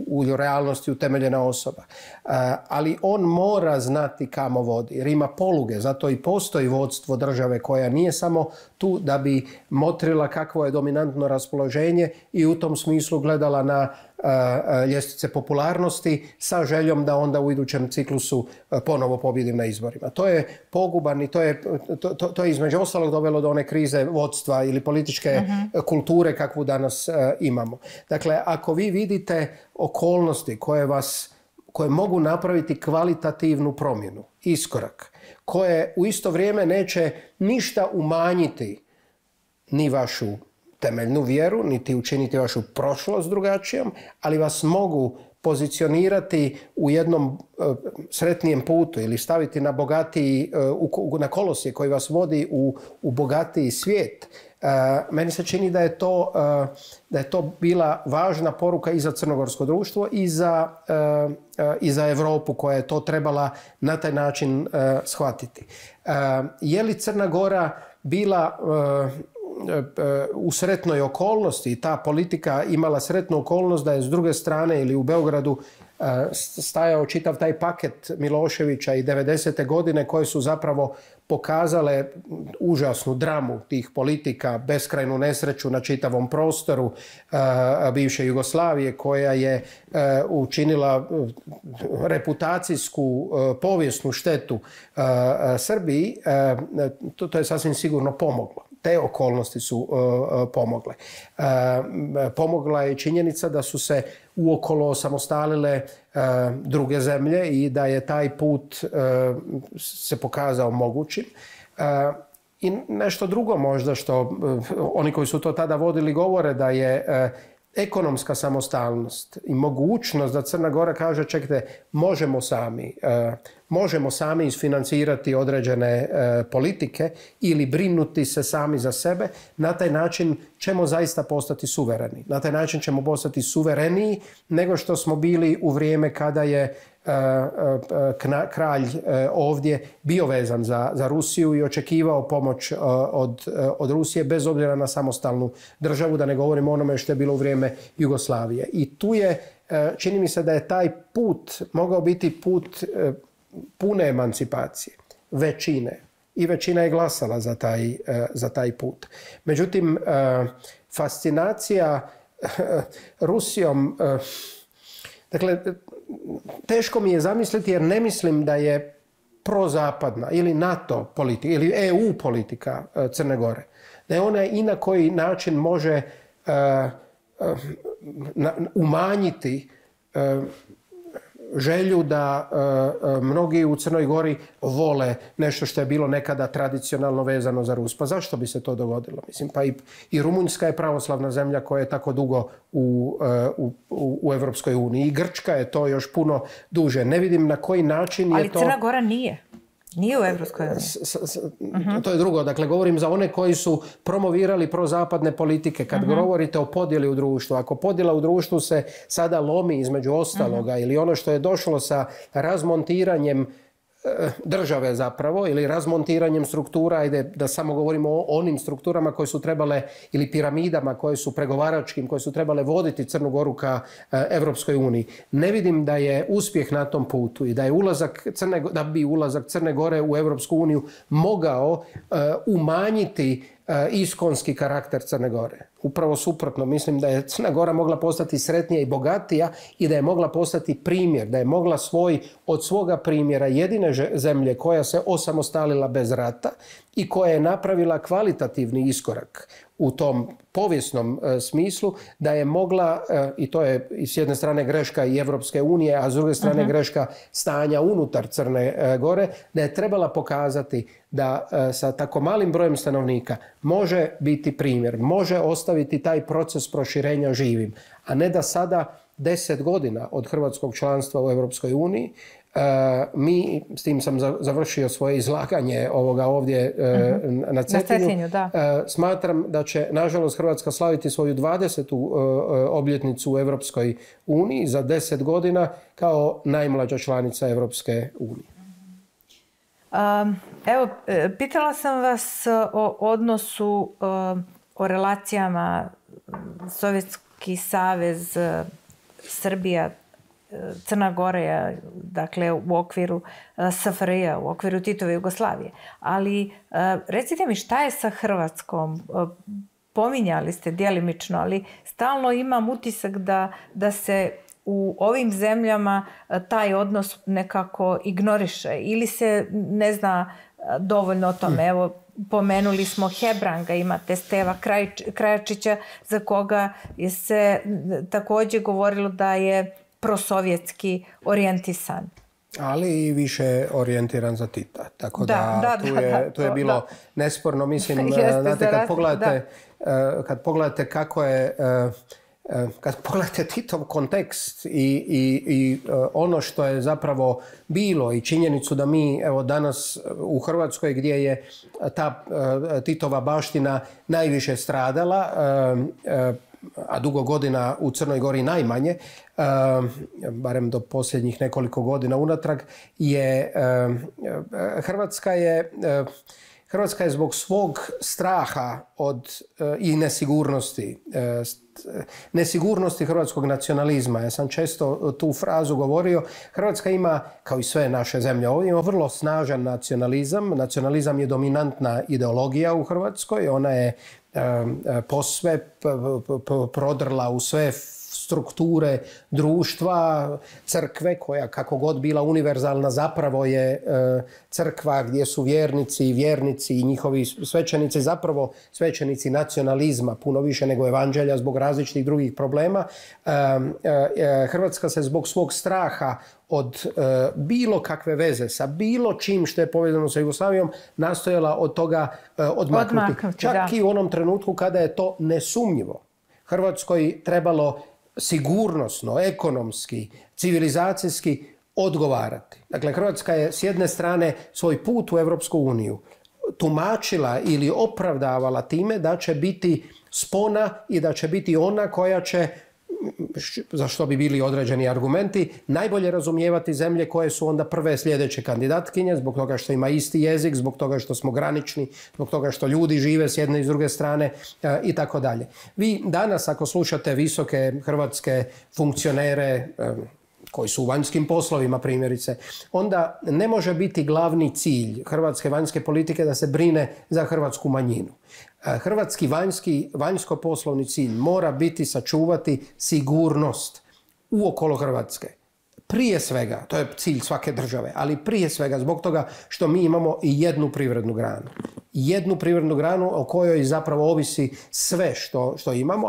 u realnosti utemeljena osoba. Ali on mora znati kamo vodi jer ima poluge. Zato i postoji vodstvo države koja nije samo tu da bi motrila kakvo je dominantno raspoloženje i u tom smislu gledala na ljestvice popularnosti sa željom da onda u idućem ciklusu ponovo pobjedim na izborima. To je poguban i to je između ostalog dovelo do one krize vodstva ili političke kulture kakvu danas imamo. Dakle, ako vi vidite okolnosti koje mogu napraviti kvalitativnu promjenu, iskorak, koje u isto vrijeme neće ništa umanjiti ni vašu temeljnu vjeru, niti učiniti vašu prošlost drugačijom, ali vas mogu pozicionirati u jednom sretnijem putu ili staviti na bogatiji, na kolosije koji vas vodi u bogatiji svijet. Meni se čini da je to bila važna poruka i za crnogorsko društvo i za Europu koja je to trebala na taj način shvatiti. Je li Crna Gora bila u sretnoj okolnosti i ta politika imala sretnu okolnost da je s druge strane ili u Beogradu stajao čitav taj paket Miloševića i 90. godine koje su zapravo pokazale užasnu dramu tih politika, beskrajnu nesreću na čitavom prostoru bivše Jugoslavije koja je učinila reputacijsku, povijesnu štetu Srbiji, to je sasvim sigurno pomoglo. Te okolnosti su pomogle. Pomogla je činjenica da su se uokolo osamostalile druge zemlje i da je taj put se pokazao mogućim. I nešto drugo možda što oni koji su to tada vodili govore da je ekonomska samostalnost i mogućnost da Crna Gora kaže čekajte, možemo sami isfinancirati određene politike ili brinuti se sami za sebe, na taj način ćemo zaista postati suvereni. Na taj način ćemo postati suvereniji nego što smo bili u vrijeme kada je kralj ovdje bio vezan za Rusiju i očekivao pomoć od Rusije bez obzira na samostalnu državu, da ne govorimo o onome što je bilo u vrijeme Jugoslavije. I tu je, čini mi se da je taj put mogao biti put pune emancipacije, većine. I većina je glasala za taj put. Međutim, fascinacija Rusijom, dakle, teško mi je zamisliti jer ne mislim da je prozapadna ili NATO politika ili EU politika Crne Gore. Da je ona i na koji način može umanjiti želju da mnogi u Crnoj Gori vole nešto što je bilo nekada tradicionalno vezano za Rus. Pa zašto bi se to dogodilo? Mislim, pa i Rumunjska je pravoslavna zemlja koja je tako dugo u Evropskoj uniji. I Grčka je to još puno duže. Ne vidim na koji način je to... Ali Crna Gora nije. Nije u Evropskoj uniji. To je drugo. Dakle, govorim za one koji su promovirali prozapadne politike. Kad govorite o podjeli u društvu, ako podjela u društvu se sada lomi između ostaloga ili ono što je došlo sa razmontiranjem države zapravo ili razmontiranjem struktura, ajde da samo govorimo o onim strukturama koje su trebale ili piramidama koje su pregovaračkim, koje su trebale voditi Crnu Goru ka Evropskoj uniji. Ne vidim da je uspjeh na tom putu i da je da bi ulazak Crne Gore u Evropsku uniju mogao umanjiti iskonski karakter Crne Gore. Upravo suprotno, mislim da je Crna Gora mogla postati sretnija i bogatija i da je mogla postati primjer, da je mogla od svoga primjera jedine zemlje koja se osamostalila bez rata i koja je napravila kvalitativni iskorak u tom povijesnom smislu, da je mogla, i to je s jedne strane greška i Evropske unije, a s druge strane greška stanja unutar Crne Gore, da je trebala pokazati da sa tako malim brojem stanovnika može biti primjer, može ostaviti taj proces proširenja živim, a ne da sada 10 godina od hrvatskog članstva u Evropskoj uniji mi, s tim sam završio svoje izlaganje ovoga ovdje na Cetinju, smatram da će, nažalost, Hrvatska slaviti svoju 20. obljetnicu u Evropskoj uniji za 10 godina kao najmlađa članica Evropske unije. Evo, pitala sam vas o odnosu, o relacijama Sovjetski savez, Srbija, Crna Gora, dakle u okviru SFRJ, u okviru Titove Jugoslavije. Ali recite mi šta je sa Hrvatskom? Pominjali ste djelimično, ali stalno imam utisak da se u ovim zemljama taj odnos nekako ignoriše ili se ne zna dovoljno o tome. Evo, pomenuli smo Hebranga, imate Steva Krajačića za koga je se također govorilo da je prosovjetski orijentisan. Ali i više orijentiran za Tita. Tako da tu je bilo nesporno. Mislim, znate, kad pogledate kako je... Kad pogledate Titov kontekst i ono što je zapravo bilo i činjenicu da mi evo danas u Hrvatskoj gdje je ta Titova baština najviše stradala, a dugo godina u Crnoj Gori najmanje, barem do posljednjih Hrvatska je zbog svog straha i nesigurnosti hrvatskog nacionalizma. Ja sam često tu frazu govorio. Hrvatska ima, kao i sve naše zemlje ovdje, ima vrlo snažan nacionalizam. Nacionalizam je dominantna ideologija u Hrvatskoj. Ona je posve prodrla u sve strukture društva, crkve koja kako god bila univerzalna zapravo je crkva gdje su vjernici i njihovi svećenici zapravo svećenici nacionalizma puno više nego evanđelja zbog različitih drugih problema. Hrvatska se zbog svog straha od bilo kakve veze sa bilo čim što je povezano sa Jugoslavijom nastojala od toga odmaknuti. Čak i u onom trenutku kada je to nesumnjivo Hrvatskoj trebalo sigurnosno, ekonomski, civilizacijski odgovarati. Dakle, Hrvatska je s jedne strane svoj put u Europsku uniju tumačila ili opravdavala time da će biti spona i da će biti ona koja će, za što bi bili određeni argumenti, najbolje razumijevati zemlje koje su onda prve sljedeće kandidatkinje, zbog toga što ima isti jezik, zbog toga što smo granični, zbog toga što ljudi žive s jedne i s druge strane i tako dalje. Vi danas ako slušate visoke hrvatske funkcionere koji su u vanjskim poslovima primjerice, onda ne može biti glavni cilj hrvatske vanjske politike da se brine za hrvatsku manjinu. Hrvatski vanjsko-poslovni cilj mora biti sačuvati sigurnost uokolo Hrvatske. Prije svega, to je cilj svake države, ali prije svega zbog toga što mi imamo i jednu privrednu granu. Jednu privrednu granu o kojoj zapravo ovisi sve što imamo,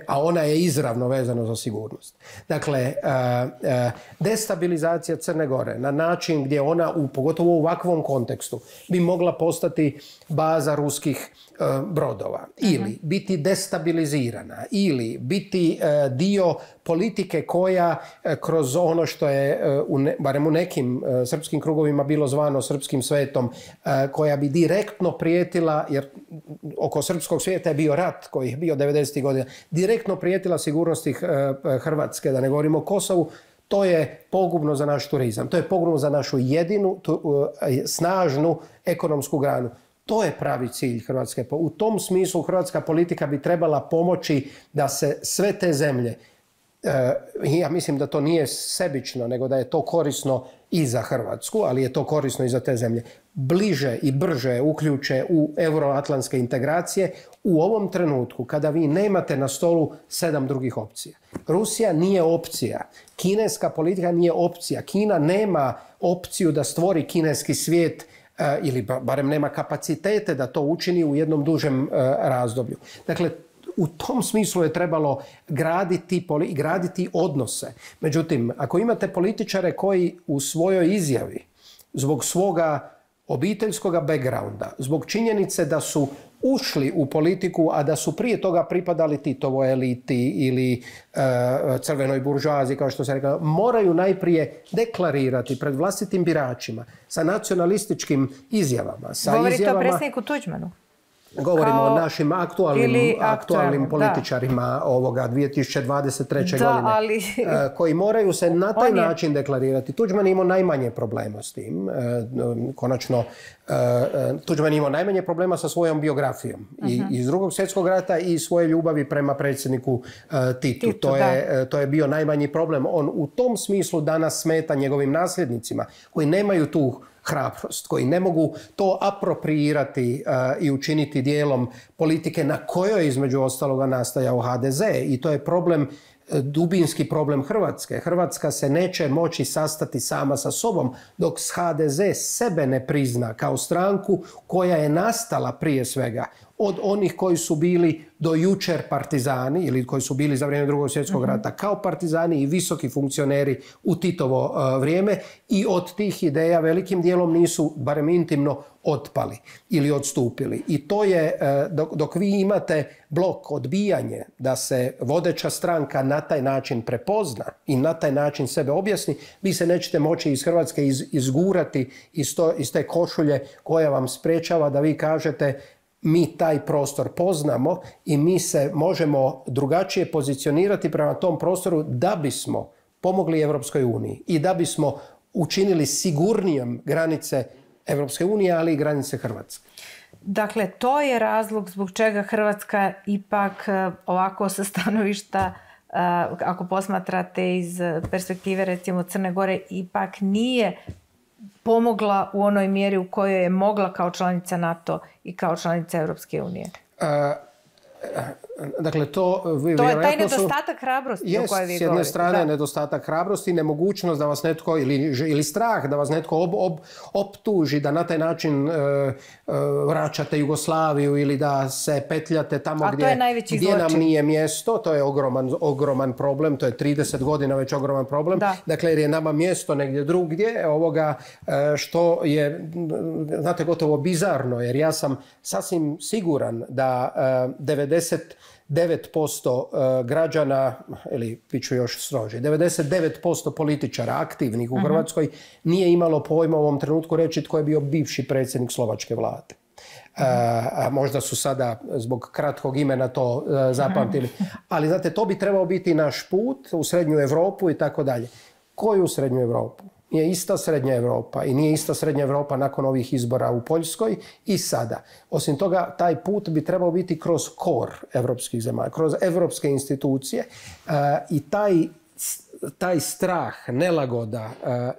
a ona je izravno vezana za sigurnost. Dakle, destabilizacija Crne Gore na način gdje ona, pogotovo u ovakvom kontekstu, bi mogla postati baza ruskih brodova ili biti destabilizirana ili biti dio politike koja kroz ono što je barem u nekim srpskim krugovima bilo zvano srpskim svetom, koja bi direktno prijetila, jer oko srpskog svijeta je bio rat koji je bio 90. godina, direktno prijetila sigurnosti Hrvatske, da ne govorimo o Kosovu. To je pogubno za naš turizam. To je pogubno za našu jedinu snažnu ekonomsku granu. To je pravi cilj Hrvatske. U tom smislu hrvatska politika bi trebala pomoći da se sve te zemlje, ja mislim da to nije sebično, nego da je to korisno i za Hrvatsku, ali je to korisno i za te zemlje, bliže i brže uključe u euroatlantske integracije u ovom trenutku kada vi nemate na stolu 7 drugih opcija. Rusija nije opcija. Kineska politika nije opcija. Kina nema opciju da stvori kineski svijet ili barem nema kapacitete da to učini u jednom dužem razdoblju. Dakle, u tom smislu je trebalo graditi odnose. Međutim, ako imate političare koji u svojoj izjavi zbog svoga obiteljskoga backgrounda, zbog činjenice da su ušli u politiku, a da su prije toga pripadali Titovoj eliti ili crvenoj buržoaziji, kao što se rekao, moraju najprije deklarirati pred vlastitim biračima sa nacionalističkim izjavama. Govorite o predsjedniku Tuđmanu? Govorimo o našim aktualnim političarima ovoga 2023. godine, koji moraju se na taj način deklarirati. Tuđman imao najmanje problema s tim. Konačno, Tuđman imao najmanje problema sa svojom biografijom. I iz Drugog svjetskog rata i svoje ljubavi prema predsjedniku Titu. To je bio najmanji problem. On u tom smislu danas smeta njegovim nasljednicima koji nemaju tu hrabrost, koji ne mogu to apropriirati i učiniti dijelom politike na kojoj između ostaloga nastajao HDZ. I to je problem, dubinski problem Hrvatske. Hrvatska se neće moći sastati sama sa sobom dok HDZ sebe ne prizna kao stranku koja je nastala prije svega od onih koji su bili do jučer partizani ili koji su bili za vrijeme Drugog svjetskog rata kao partizani i visoki funkcioneri u Titovo vrijeme, i od tih ideja velikim dijelom nisu, barem intimno, otpali ili odstupili. I to je, dok vi imate blok, odbijanje da se vodeća stranka na taj način prepozna i na taj način sebe objasni, vi se nećete moći iz Hrvatske izgurati iz te košulje koja vam sprečava da vi kažete mi taj prostor poznamo i mi se možemo drugačije pozicionirati prema tom prostoru da bismo pomogli Europskoj uniji i da bismo učinili sigurnijom granice Evropske unije, ali i granice Hrvatske. Dakle, to je razlog zbog čega Hrvatska ipak ovako sa stanovišta, ako posmatrate iz perspektive recimo Crne Gore, ipak nije pomogla u onoj mjeri u kojoj je mogla kao članica NATO i kao članica Europske unije. Dakle, to je taj nedostatak hrabrosti o kojoj vi govorite. S jedne strane nedostatak hrabrosti, nemogućnost da vas netko, ili strah da vas netko optuži, da na taj način vraćate Jugoslaviju ili da se petljate tamo gdje nam nije mjesto. To je ogroman problem, to je 30 godina već ogroman problem. Dakle, jer je nama mjesto negdje drugdje, što je, znate, gotovo bizarno, jer ja sam sasvim siguran da 99% građana, ili bit ću još stroži, 99% političara aktivnih u Hrvatskoj nije imalo pojma u ovom trenutku reći tko je bio bivši predsjednik slovačke vlade. Možda su sada zbog kratkog imena to zapamtili. Ali znate, to bi trebao biti naš put u Srednju Europu i tako dalje. Koju Srednju Europu? Nije ista Srednja Europa i nije ista Srednja Europa nakon ovih izbora u Poljskoj i sada. Osim toga, taj put bi trebao biti kroz kor evropskih zemalja, kroz evropske institucije i taj strah, nelagoda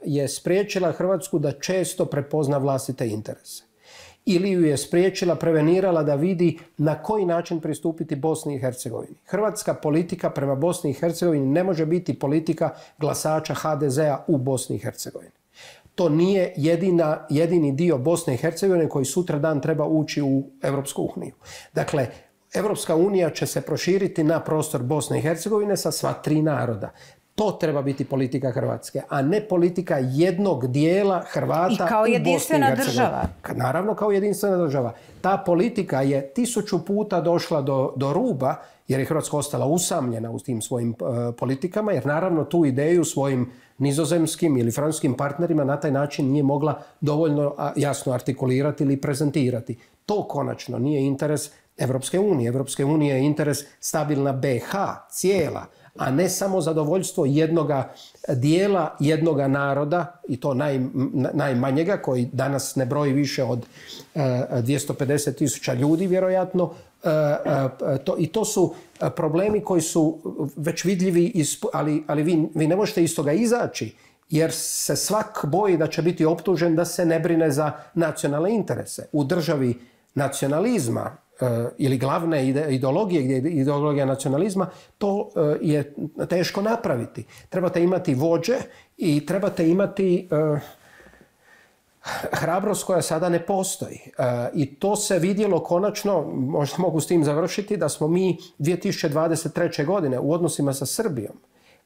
je spriječila Hrvatsku da često prepozna vlastite interese. Ili ju je spriječila, prevenirala da vidi na koji način pristupiti Bosni i Hercegovini. Hrvatska politika prema Bosni i Hercegovini ne može biti politika glasača HDZ-a u Bosni i Hercegovini. To nije jedini dio Bosne i Hercegovine koji sutra dan treba ući u Europsku uniju. Dakle, Europska unija će se proširiti na prostor Bosne i Hercegovine sa sva 3 naroda. To treba biti politika Hrvatske, a ne politika jednog dijela Hrvata u Bosni i Hercegovini. I kao jedinstvena država. Naravno, kao jedinstvena država. Ta politika je 1000 puta došla do ruba, jer je Hrvatska ostala usamljena u tim svojim politikama, jer naravno tu ideju svojim nizozemskim ili francuskim partnerima na taj način nije mogla dovoljno jasno artikulirati ili prezentirati. To konačno nije interes Evropske unije. Evropske unije je interes stabilna BiH, cijela, a ne samo zadovoljstvo jednoga dijela, jednoga naroda, i to najmanjega, koji danas ne broji više od 250.000 ljudi, vjerojatno. I to su problemi koji su već vidljivi, ali vi ne možete iz toga izaći, jer se svak boji da će biti optužen da se ne brine za nacionalne interese. U državi nacionalizma ili glavne ideologije, gdje je ideologija nacionalizma, to je teško napraviti. Trebate imati vođe i trebate imati hrabrost koja sada ne postoji. I to se vidjelo konačno, možda mogu s tim završiti, da smo mi 2023. godine u odnosima sa Srbijom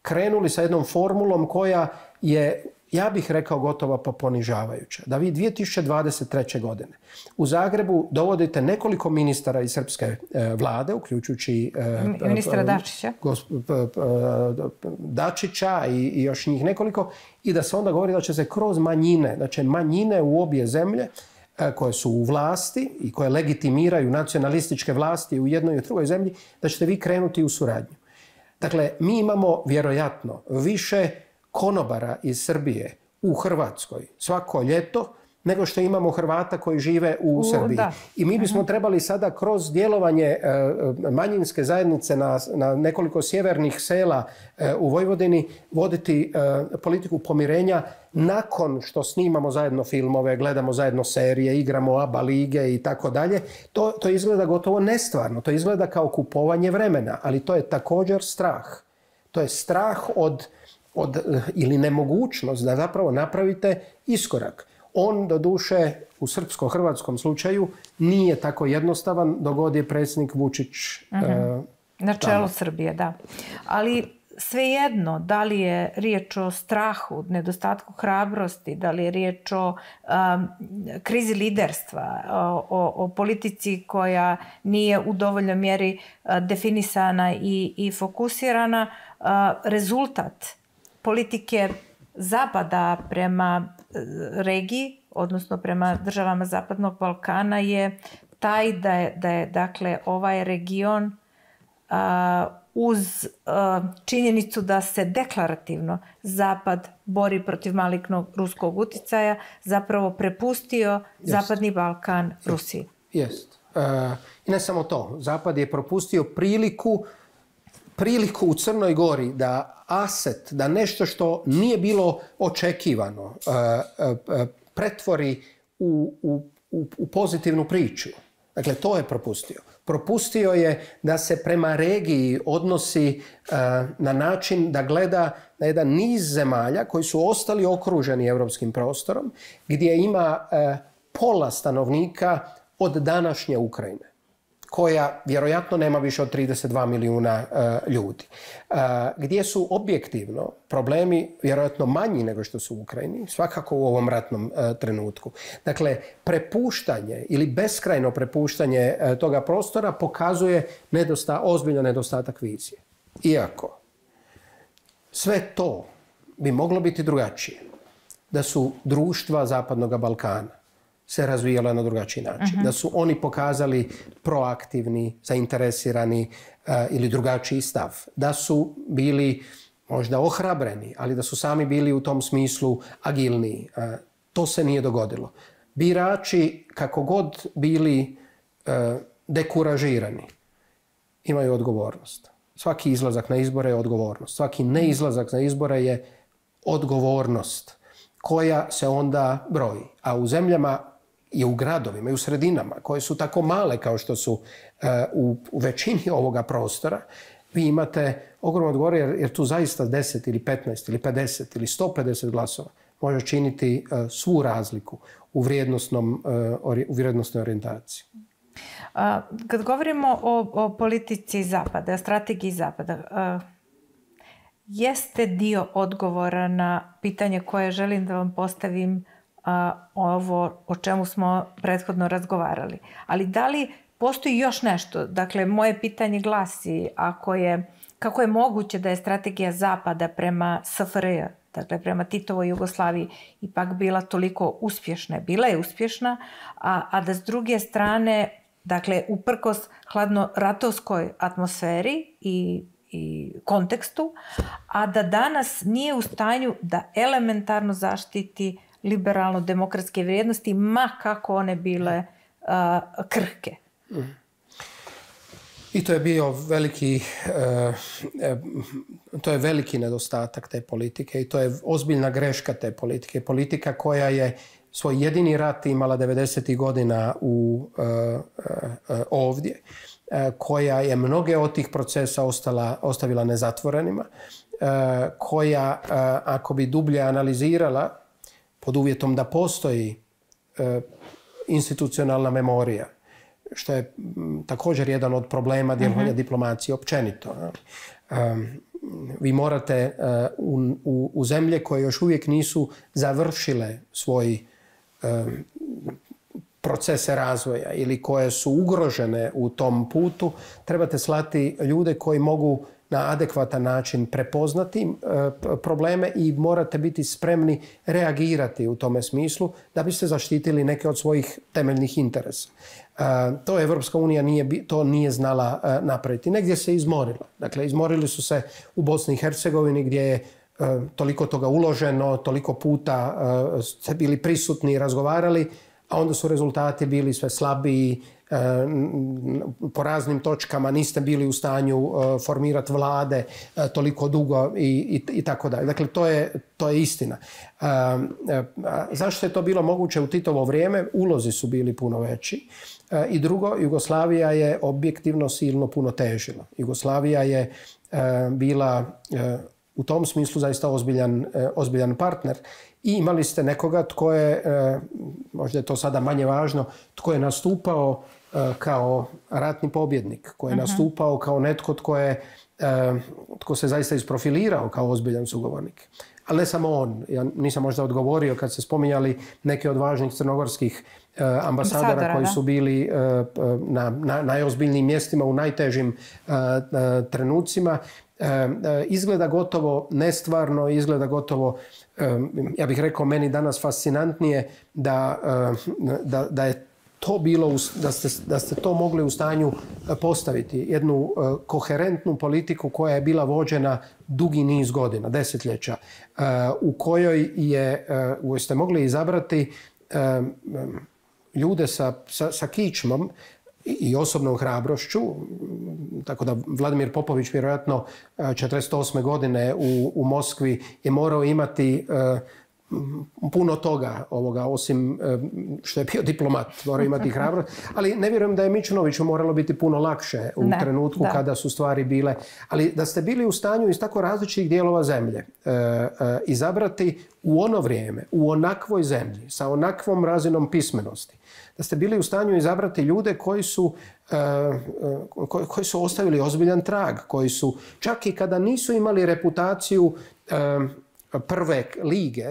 krenuli sa jednom formulom koja je, ja bih rekao, gotovo pa ponižavajuća. Da vi 2023. godine u Zagrebu dovodite nekoliko ministara iz srpske vlade, uključujući ministra Dačića. Dačića i još njih nekoliko, i da se onda govori da će se kroz manjine, da će manjine u obje zemlje koje su u vlasti i koje legitimiraju nacionalističke vlasti u jednoj i drugoj zemlji, da ćete vi krenuti u suradnju. Dakle, mi imamo vjerojatno više konobara iz Srbije u Hrvatskoj svako ljeto nego što imamo Hrvata koji žive u Srbiji. I mi bismo trebali sada kroz djelovanje manjinske zajednice na nekoliko sjevernih sela u Vojvodini voditi politiku pomirenja nakon što snimamo zajedno filmove, gledamo zajedno serije, igramo ABA lige i tako dalje. To izgleda gotovo nestvarno, to izgleda kao kupovanje vremena, ali to je također strah. To je strah ili nemogućnost da zapravo napravite iskorak. On, doduše, u srpsko-hrvatskom slučaju nije tako jednostavan dok god je predsjednik Vučić na čelu Srbije, da. Ali svejedno, da li je riječ o strahu, nedostatku hrabrosti, da li je riječ o krizi liderstva, o politici koja nije u dovoljnoj mjeri definisana i fokusirana, rezultat politike Zapada prema regiji, odnosno prema državama Zapadnog Balkana, je taj da je dakle ovaj region uz činjenicu da se deklarativno Zapad bori protiv malignog ruskog uticaja, zapravo prepustio Zapadni Balkan Rusiji. Jest. I ne samo to. Zapad je propustio priliku u Crnoj Gori da aset, da nešto što nije bilo očekivano, pretvori u pozitivnu priču. Dakle, to je propustio. Propustio je da se prema regiji odnosi na način da gleda na jedan niz zemalja koji su ostali okruženi europskim prostorom, gdje ima pola stanovnika od današnje Ukrajine, koja vjerojatno nema više od 32 milijuna ljudi. Gdje su objektivno problemi vjerojatno manji nego što su u Ukrajini, svakako u ovom ratnom trenutku. Dakle, prepuštanje ili beskrajno prepuštanje toga prostora pokazuje ozbiljan nedostatak vizije. Iako sve to bi moglo biti drugačije da su društva Zapadnog Balkana se razvijala na drugačiji način. Da su oni pokazali proaktivni, zainteresirani ili drugačiji stav. Da su bili možda ohrabreni, ali da su sami bili u tom smislu agilniji. To se nije dogodilo. Birači, kako god bili dekuražirani, imaju odgovornost. Svaki izlazak na izbore je odgovornost. Svaki neizlazak na izbore je odgovornost koja se onda broji. A u zemljama i u gradovima i u sredinama koje su tako male kao što su u većini ovoga prostora, vi imate ogromno odgovor jer tu zaista 10 ili 15 ili 50 ili 150 glasova može činiti svu razliku u vrijednosnoj orijentaciji. Kad govorimo o politici Zapada, o strategiji Zapada, jeste dio odgovora na pitanje koje želim da vam postavim, ovo o čemu smo prethodno razgovarali. Ali da li postoji još nešto? Dakle, moje pitanje glasi, kako je moguće da je strategija Zapada prema SFRJ, dakle prema Titovoj Jugoslaviji, ipak bila toliko uspješna? Bila je uspješna, a da s druge strane, dakle, uprkos hladnoratovskoj atmosferi i kontekstu, a da danas nije u stanju da elementarno zaštiti liberalno-demokratske vrijednosti, ma kako one bile krhke. I to je bio veliki nedostatak te politike i to je ozbiljna greška te politike. Politika koja je svoj jedini rat imala 90. godina ovdje, koja je mnoge od tih procesa ostavila nezatvorenima, koja, ako bi dublje analizirala, pod uvjetom da postoji institucionalna memorija, što je također jedan od problema djelovanja diplomacije općenito. Vi morate u zemlje koje još uvijek nisu završile svoj procese razvoja ili koje su ugrožene u tom putu, trebate slati ljude koji mogu na adekvatan način prepoznati probleme i morate biti spremni reagirati u tome smislu da biste zaštitili neke od svojih temeljnih interesa. To Evropska unija nije znala napraviti. Negdje se izmorila. Dakle, izmorili su se u Bosni i Hercegovini gdje je toliko toga uloženo, toliko puta ste bili prisutni i razgovarali, a onda su rezultati bili sve slabiji, po raznim točkama niste bili u stanju formirati vlade toliko dugo i tako dalje. Dakle, to je istina. Zašto je to bilo moguće u Titovo vrijeme? Ulozi su bili puno veći. I drugo, Jugoslavija je objektivno silno puno težila. Jugoslavija je bila u tom smislu zaista ozbiljan partner. I imali ste nekoga tko je, možda je to sada manje važno, tko je nastupao kao ratni pobjednik, tko je nastupao kao netko tko se zaista isprofilirao kao ozbiljan sugovornik. Ali ne samo on. Ja nisam možda odgovorio kad ste spominjali neke od važnih crnogorskih ambasadora koji su bili na najozbiljnijim mjestima u najtežim trenucima. Izgleda gotovo nestvarno, izgleda gotovo, ja bih rekao, meni danas fascinantnije da je to bilo, da ste to mogli u stanju postaviti, jednu koherentnu politiku koja je bila vođena dugi niz godina, desetljeća, u kojoj ste mogli izabrati ljude sa kičmom i osobnom hrabrošću, tako da Vladimir Popović vjerojatno 1948. godine u Moskvi je morao imati puno toga, osim što je bio diplomat, morao imati hrabrost, ali ne vjerujem da je Mičunoviću moralo biti puno lakše u trenutku kada su stvari bile, ali da ste bili u stanju iz tako različitih dijelova zemlje izabrati u ono vrijeme, u onakvoj zemlji, sa onakvom razinom pismenosti, da ste bili u stanju izabrati ljude koji su ostavili ozbiljan trag, koji su, čak i kada nisu imali reputaciju prve lige,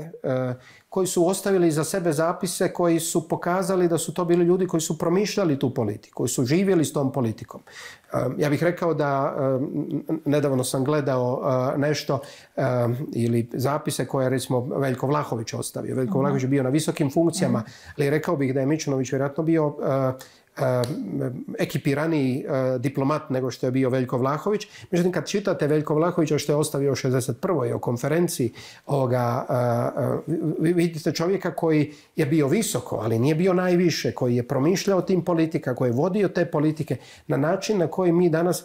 koji su ostavili za sebe zapise koji su pokazali da su to bili ljudi koji su promišljali tu politiku, koji su živjeli s tom politikom. Ja bih rekao da nedavno sam gledao nešto ili zapise koje je recimo Veljko Vlahović ostavio. Veljko Vlahović je bio na visokim funkcijama, ali rekao bih da je Mičunović vjerojatno bio ekipiraniji diplomat nego što je bio Veljko Vlahović. Međutim, kad čitate Veljko Vlahovića što je ostavio u 1961. o konferenciji, vidite čovjeka koji je bio visoko, ali nije bio najviše, koji je promišljao tim politika, koji je vodio te politike na način na koji mi danas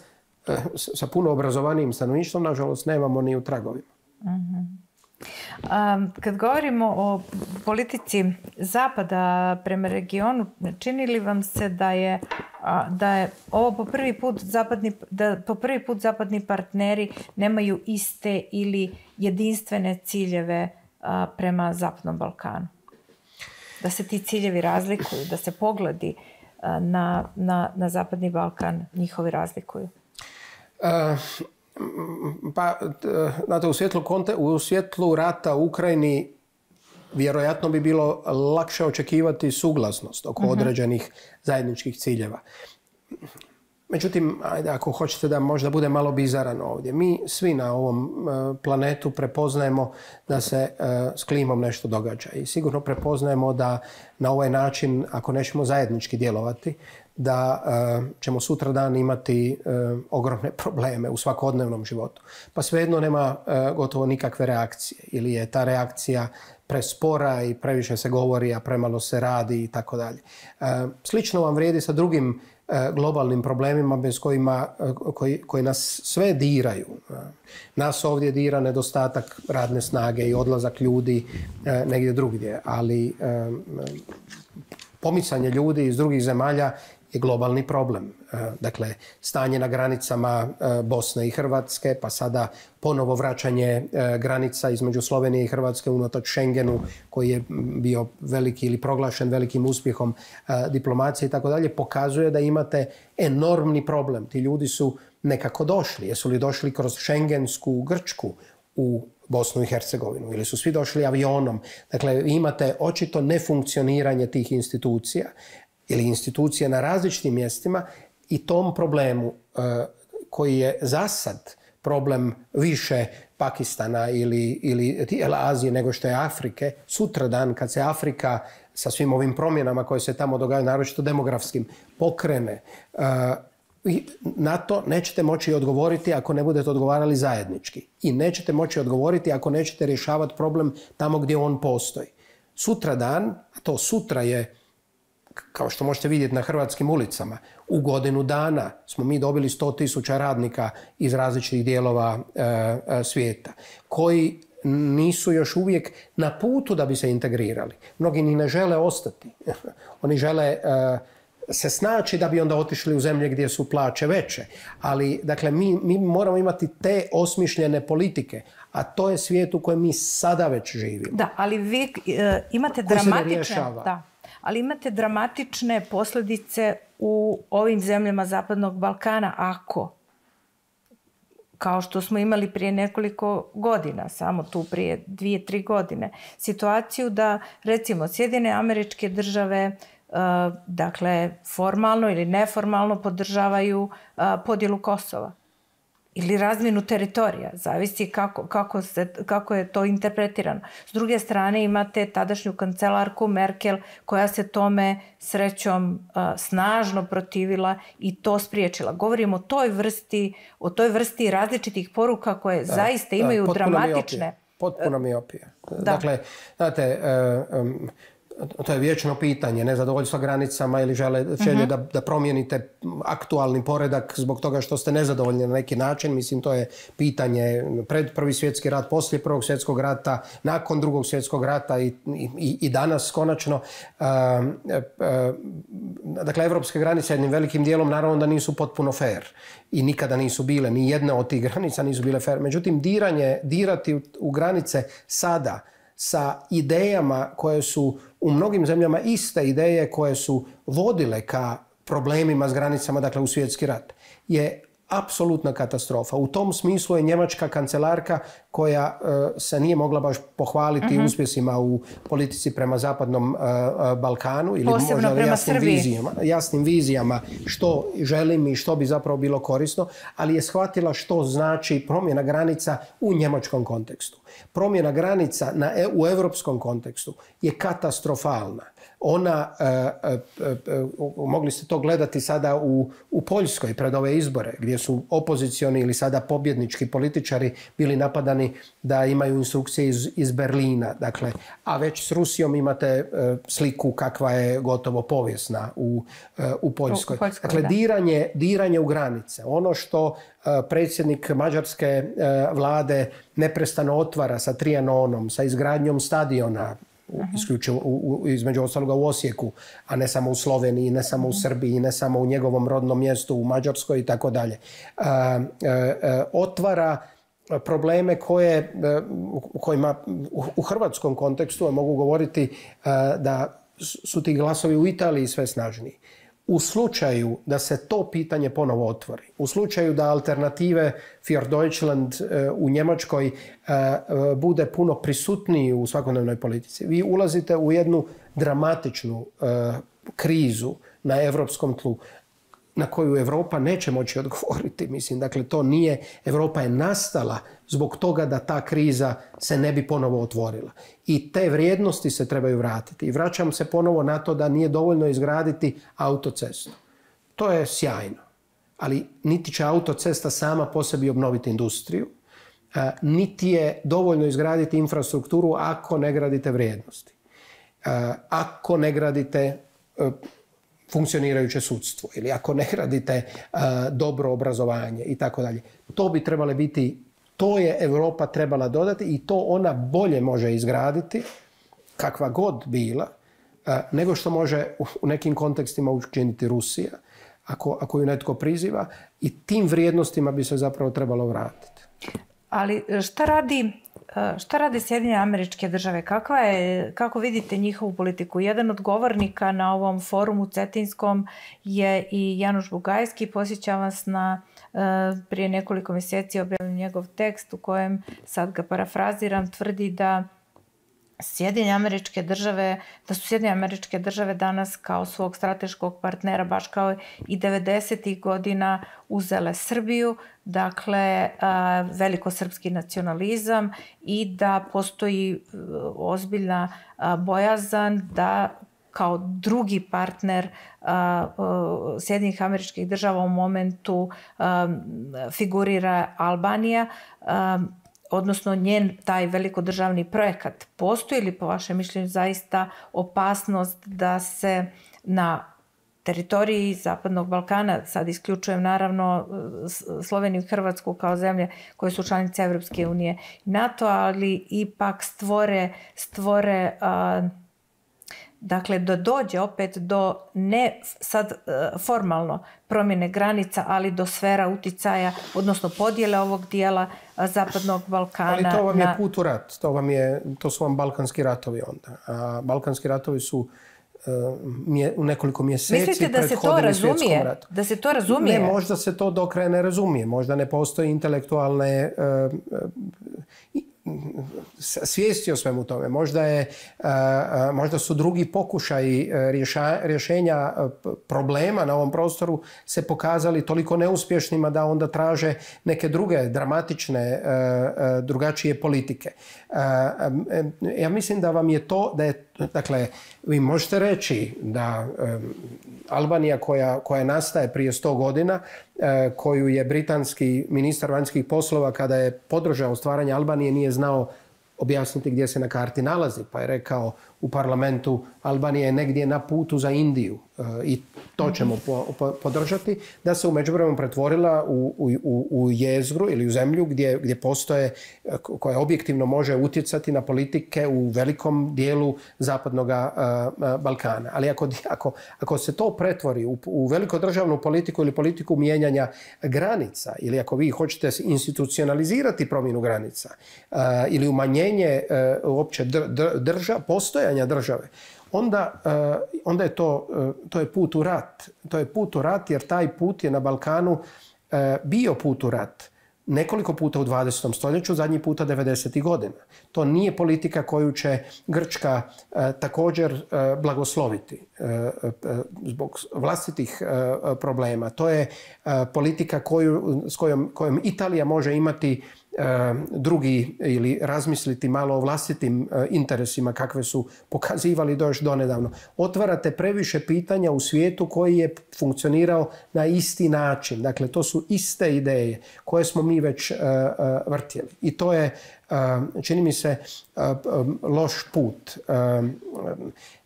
sa puno obrazovanijim stanovništvom, nažalost, nemamo ni u tragovima. Kad govorimo o politici Zapada prema regionu, čini li vam se da je ovo po prvi put zapadni partneri nemaju iste ili jedinstvene ciljeve prema Zapadnom Balkanu? Da se ti ciljevi razlikuju, da se pogledi na Zapadni Balkan njihovi razlikuju? Pa, znate, u svjetlu rata u Ukrajini vjerojatno bi bilo lakše očekivati suglasnost oko određenih zajedničkih ciljeva. Međutim, ako hoćete da možda bude malo bizaran ovdje, mi svi na ovom planetu prepoznajemo da se s klimom nešto događa i sigurno prepoznajemo da na ovaj način, ako nećemo zajednički djelovati, da ćemo sutradan imati ogromne probleme u svakodnevnom životu. Pa svejedno nema gotovo nikakve reakcije ili je ta reakcija prespora i previše se govori, a premalo se radi i tako dalje. Slično vam vrijedi sa drugim globalnim problemima koji nas sve diraju. Nas ovdje dira nedostatak radne snage i odlazak ljudi negdje drugdje, ali pomicanje ljudi iz drugih zemalja je globalni problem. Dakle, stanje na granicama Bosne i Hrvatske, pa sada ponovo vraćanje granica između Slovenije i Hrvatske unatoč Schengenu, koji je bio veliki ili proglašen velikim uspjehom diplomacije i tako dalje, pokazuje da imate enormni problem. Ti ljudi su nekako došli. Jesu li došli kroz Schengensku Grčku u Bosnu i Hercegovinu ili su svi došli avionom? Dakle, imate očito nefunkcioniranje tih institucija ili institucije na različitim mjestima i tom problemu koji je zasad problem više Pakistana ili Azije nego što je Afrike, sutradan kad se Afrika sa svim ovim promjenama koje se tamo događaju, naročito demografskim, pokrene, na to nećete moći odgovoriti ako ne budete odgovarali zajednički. I nećete moći odgovoriti ako nećete rješavati problem tamo gdje on postoji. Sutradan, a to sutra je, kao što možete vidjeti na hrvatskim ulicama, u godinu dana smo mi dobili 100.000 radnika iz različitih dijelova svijeta, koji nisu još uvijek na putu da bi se integrirali. Mnogi ni ne žele ostati. Oni žele se snaći da bi onda otišli u zemlje gdje su plaće veće. Ali, dakle, mi moramo imati te osmišljene politike, a to je svijet u kojem mi sada već živimo. Da, ali vi imate dramatične posljedice u ovim zemljama Zapadnog Balkana ako, kao što smo imali prije nekoliko godina, samo tu prije 2-3 godine, situaciju da, recimo, Sjedinjene Američke Države dakle, formalno ili neformalno podržavaju podjelu Kosova. ili razmjenu teritorija, zavisi kako je to interpretirano. S druge strane imate tadašnju kancelarku Merkel koja se tome srećom snažno protivila i to spriječila. Govorimo o toj vrsti različitih poruka koje zaista imaju dramatične... Potpuno miopija. Dakle, znate, to je vječno pitanje, nezadovoljstva granicama ili želje da promijenite aktualni poredak zbog toga što ste nezadovoljni na neki način. Mislim, to je pitanje pred Prvi svjetski rat, poslije Prvog svjetskog rata, nakon Drugog svjetskog rata i danas konačno. Dakle, evropske granice jednim velikim dijelom naravno da nisu potpuno fair i nikada nisu bile. Ni jedna od tih granica nisu bile fair. Međutim, dirati u granice sada sa idejama koje su u mnogim zemljama iste ideje koje su vodile ka problemima s granicama, dakle u svjetski rat, je apsolutna katastrofa. U tom smislu je njemačka kancelarka koja se nije mogla baš pohvaliti uspjesima u politici prema Zapadnom Balkanu ili posebno možda prema jasnim vizijama što želim i što bi zapravo bilo korisno, ali je shvatila što znači promjena granica u njemačkom kontekstu. Promjena granica u europskom kontekstu je katastrofalna. Ona, mogli ste to gledati sada u Poljskoj pred ove izbore, gdje su opozicioni ili sada pobjednički političari bili napadani da imaju instrukcije iz Berlina. Dakle, a već s Rusijom imate sliku kakva je gotovo povijesna u Poljskoj. Dakle, diranje u granice. Ono što predsjednik mađarske vlade neprestano otvara sa Trianonom, sa izgradnjom stadiona, isključivo između ostaloga u Osijeku, a ne samo u Sloveniji, ne samo u Srbiji, ne samo u njegovom rodnom mjestu u Mađarskoj i tako dalje. Otvara probleme kojima u hrvatskom kontekstu mogu govoriti da su ti glasovi u Italiji sve snažniji. U slučaju da se to pitanje ponovo otvori, u slučaju da alternative für Deutschland u Njemačkoj bude puno prisutniji u svakodnevnoj politici, vi ulazite u jednu dramatičnu krizu na europskom tlu na koju Europa neće moći odgovoriti. Mislim, dakle, to nije, Europa je nastala zbog toga da ta kriza se ne bi ponovo otvorila. I te vrijednosti se trebaju vratiti. I vraćam se ponovo na to da nije dovoljno izgraditi autocestu. To je sjajno. Ali niti će autocesta sama po sebi obnoviti industriju, niti je dovoljno izgraditi infrastrukturu ako ne gradite vrijednosti. Ako ne gradite funkcionirajuće sudstvo ili ako ne gradite dobro obrazovanje i tako dalje. To bi trebale biti, to je Europa trebala dodati i to ona bolje može izgraditi, kakva god bila, nego što može u nekim kontekstima učiniti Rusija, ako ju netko priziva, i tim vrijednostima bi se zapravo trebalo vratiti. Ali šta rade Sjedinjene Američke Države? Kako vidite njihovu politiku? Jedan od govornika na ovom forumu cetinskom je i Januš Bugajski. Posjećam vas na prije nekoliko mjeseci objavljen njegov tekst u kojem, sad ga parafraziram, tvrdi da su Sjedinjene Američke Države danas kao svog strateškog partnera, baš kao i 90. godina, uzele Srbiju, dakle velikosrpski nacionalizam, i da postoji ozbiljna bojazan da kao drugi partner Sjedinjenih Američkih Država u momentu figurira Albanija, odnosno njen taj velikodržavni projekat. Postoji li po vašem mišljenju zaista opasnost da se na teritoriji Zapadnog Balkana, sad isključujem naravno Sloveniju i Hrvatsku kao zemlje koje su članice Evropske unije i NATO, ali ipak stvore dakle da dođe opet do ne sad formalno promjene granica, ali do sfera uticaja, odnosno podjele ovog dijela Zapadnog Balkana. Ali to vam je put u rat, to su vam Balkanski ratovi onda. A Balkanski ratovi su u nekoliko mjeseci prethodili svjetskom ratu. Da se to razumije? Ne, možda se to do kraja ne razumije. Možda ne postoji intelektualne svijesti o svemu tome. Možda su drugi pokušaji rješenja problema na ovom prostoru se pokazali toliko neuspješnima da onda traže neke druge dramatične, drugačije politike. Ja mislim da vam je to, dakle, vi možete reći da Albanija koja nastaje prije 100 godina, koju je britanski ministar vanjskih poslova kada je podržao stvaranje Albanije nije znao objasniti gdje se na karti nalazi, pa je rekao u parlamentu Albanija je negdje na putu za Indiju i to ćemo podržati, da se u međuvremenu pretvorila u jezgru ili u zemlju gdje postoje, koja objektivno može utjecati na politike u velikom dijelu zapadnog Balkana. Ali ako se to pretvori u velikodržavnu politiku ili politiku mijenjanja granica, ili ako vi hoćete institucionalizirati promjenu granica ili umanjenje uopće postojanja države, onda je to je put u rat. To je put u rat jer taj put je na Balkanu bio put u rat. Nekoliko puta u 20. stoljeću, zadnji puta 90. godina. To nije politika koju će Grčka također blagosloviti zbog vlastitih problema. To je politika s kojom Italija može imati drugi ili razmisliti malo o vlastitim interesima kakve su pokazivali još donedavno. Otvarate previše pitanja u svijetu koji je funkcionirao na isti način. Dakle, to su iste ideje koje smo mi već vrtjeli. I to je, čini mi se, loš put.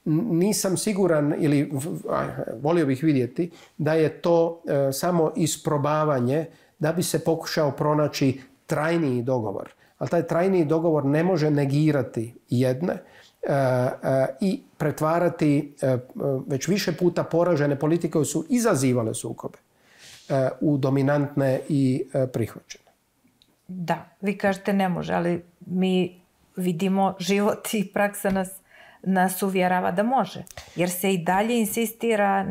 Nisam siguran ili volio bih vidjeti da je to samo isprobavanje da bi se pokušao pronaći trajniji dogovor. Ali taj trajniji dogovor ne može negirati jedne i pretvarati već više puta poražene politike koje su izazivale sukobe u dominantne i prihvaćene. Da, vi kažete ne može, ali mi vidimo život i praksa nas uvjerava da može. Jer se i dalje insistira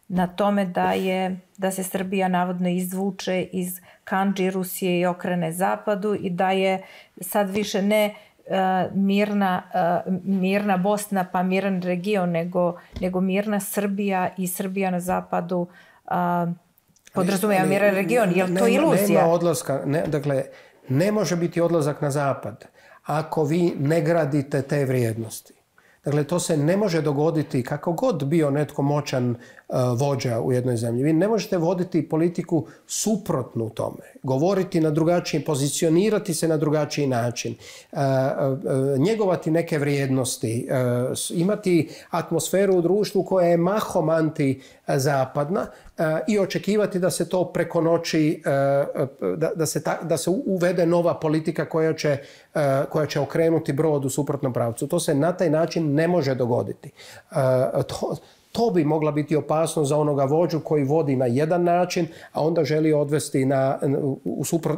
na tome da se Srbija navodno izvuče iz kandži Rusije i okrene zapadu i da je sad više ne mirna Bosna pa miran region, nego mirna Srbija i Srbija na zapadu podrazumijeva miran region. Je li to iluzija? Nema odlaska, dakle, ne može biti odlazak na zapad ako vi ne gradite te vrijednosti. Dakle, to se ne može dogoditi kako god bio netko moćan vođa u jednoj zemlji. Vi ne možete voditi politiku suprotnu tome, govoriti na drugačiji, pozicionirati se na drugačiji način, njegovati neke vrijednosti, imati atmosferu u društvu koja je mahom antizapadna i očekivati da se to preko noći, da se uvede nova politika koja će okrenuti brod u suprotnom pravcu. To se na taj način ne može dogoditi. To bi mogla biti opasnost za onoga vođu koji vodi na jedan način, a onda želi odvesti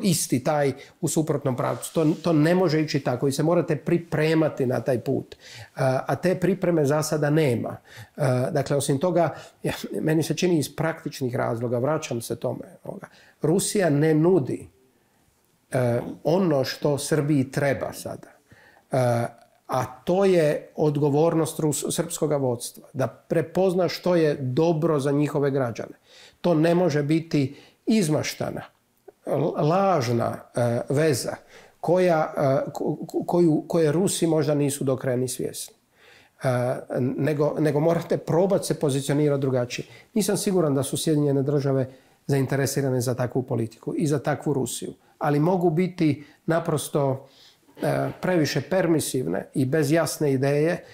isti taj u suprotnom pravcu. To ne može ići tako i se morate pripremati na taj put. A te pripreme za sada nema. Dakle, osim toga, meni se čini iz praktičnih razloga, vraćam se tome, Rusija ne nudi ono što Srbiji treba sada. A to je odgovornost srpskog vodstva, da prepozna što je dobro za njihove građane. To ne može biti izmaštana, lažna veza koje Rusi možda nisu do kraja ni svjesni. Nego morate probati se pozicionirati drugačije. Nisam siguran da su Sjedinjene Države zainteresirane za takvu politiku i za takvu Rusiju, ali mogu biti naprosto previše permisivne i bez jasne ideje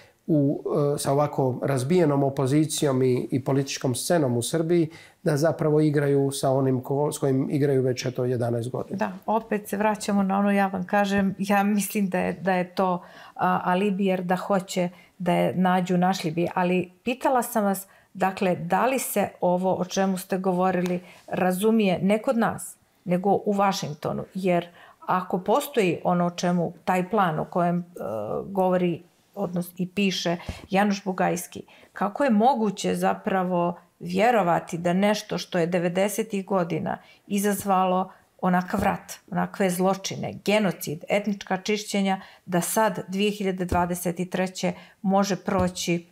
sa ovako razbijenom opozicijom i političkom scenom u Srbiji da zapravo igraju sa onim s kojim igraju već 11 godina. Da, opet se vraćamo na ono, ja vam kažem, ja mislim da je to alibi jer da hoće da je našli bi. Ali pitala sam vas, dakle, da li se ovo o čemu ste govorili razumije ne kod nas, nego u Vašingtonu, jer ako postoji ono o čemu, taj plan o kojem govori odnosno i piše Januš Bugajski, kako je moguće zapravo vjerovati da nešto što je 90. godina izazvalo onakav rat, onakve zločine, genocid, etnička čišćenja, da sad 2023. može proći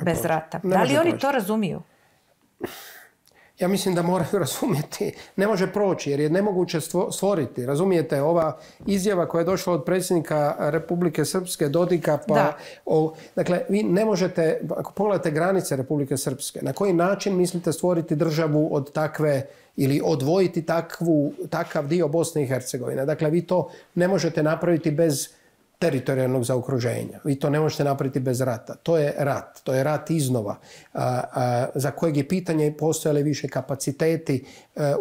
bez rata. Da li oni to razumiju? Ja mislim da moraju razumjeti. Ne može proći jer je nemoguće stvoriti. Razumijete, ova izjava koja je došla od predsjednika Republike Srpske Dodika, dakle, vi ne možete, ako pogledate granice Republike Srpske, na koji način mislite stvoriti državu od takve ili odvojiti takav dio Bosne i Hercegovine. Dakle, vi to ne možete napraviti bez teritorijalnog zaokruženja. Vi to ne možete napraviti bez rata. To je rat iznova, za kojeg je pitanje postojale više kapaciteti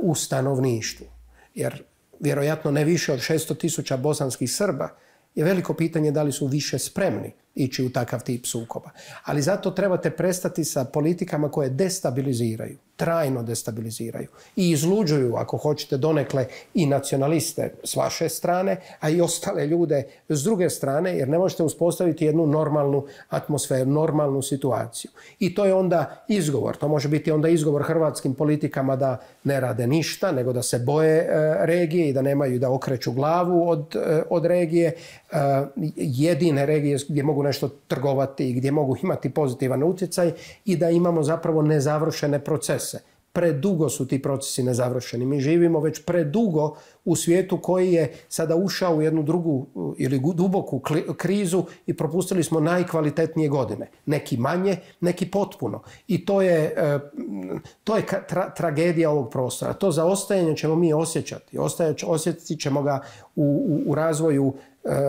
u stanovništvu. Jer vjerojatno ne više od 600.000 bosanskih Srba je veliko pitanje da li su više spremni ići u takav tip sukoba. Ali zato trebate prestati sa politikama koje destabiliziraju, trajno destabiliziraju i izluđuju, ako hoćete, donekle i nacionaliste s vaše strane, a i ostale ljude s druge strane, jer ne možete uspostaviti jednu normalnu atmosferu, normalnu situaciju. I to je onda izgovor. To može biti onda izgovor hrvatskim politikama da ne rade ništa, nego da se boje regije i da nemaju, da okreću glavu od regije. Jedine regije gdje mogu nešto trgovati i gdje mogu imati pozitivan utjecaj i da imamo zapravo nezavršene procese. Predugo su ti procesi nezavršeni. Mi živimo već predugo u svijetu koji je sada ušao u jednu drugu ili duboku krizu i propustili smo najkvalitetnije godine. Neki manje, neki potpuno. I to je tragedija ovog prostora. To zaostajanje ćemo mi osjećati. Osjetit ćemo ga u razvoju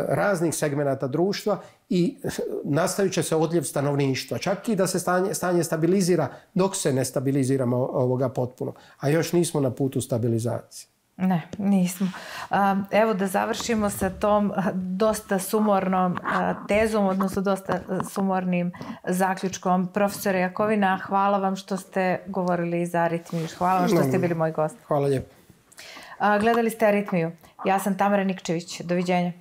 raznih segmenata društva i nastavit će se odljev stanovništva. Čak i da se stanje stabilizira dok se ne stabiliziramo ovoga potpuno. A još nismo na putu stabilizacije. Ne, nismo. Evo da završimo sa tom dosta sumornom tezom, odnosno dosta sumornim zaključkom. Profesore Jakovina, hvala vam što ste govorili za Aritmiju. Hvala vam što ste bili moj gost. Hvala lijepo. Gledali ste Aritmiju. Ja sam Tamara Nikčević. Doviđenja.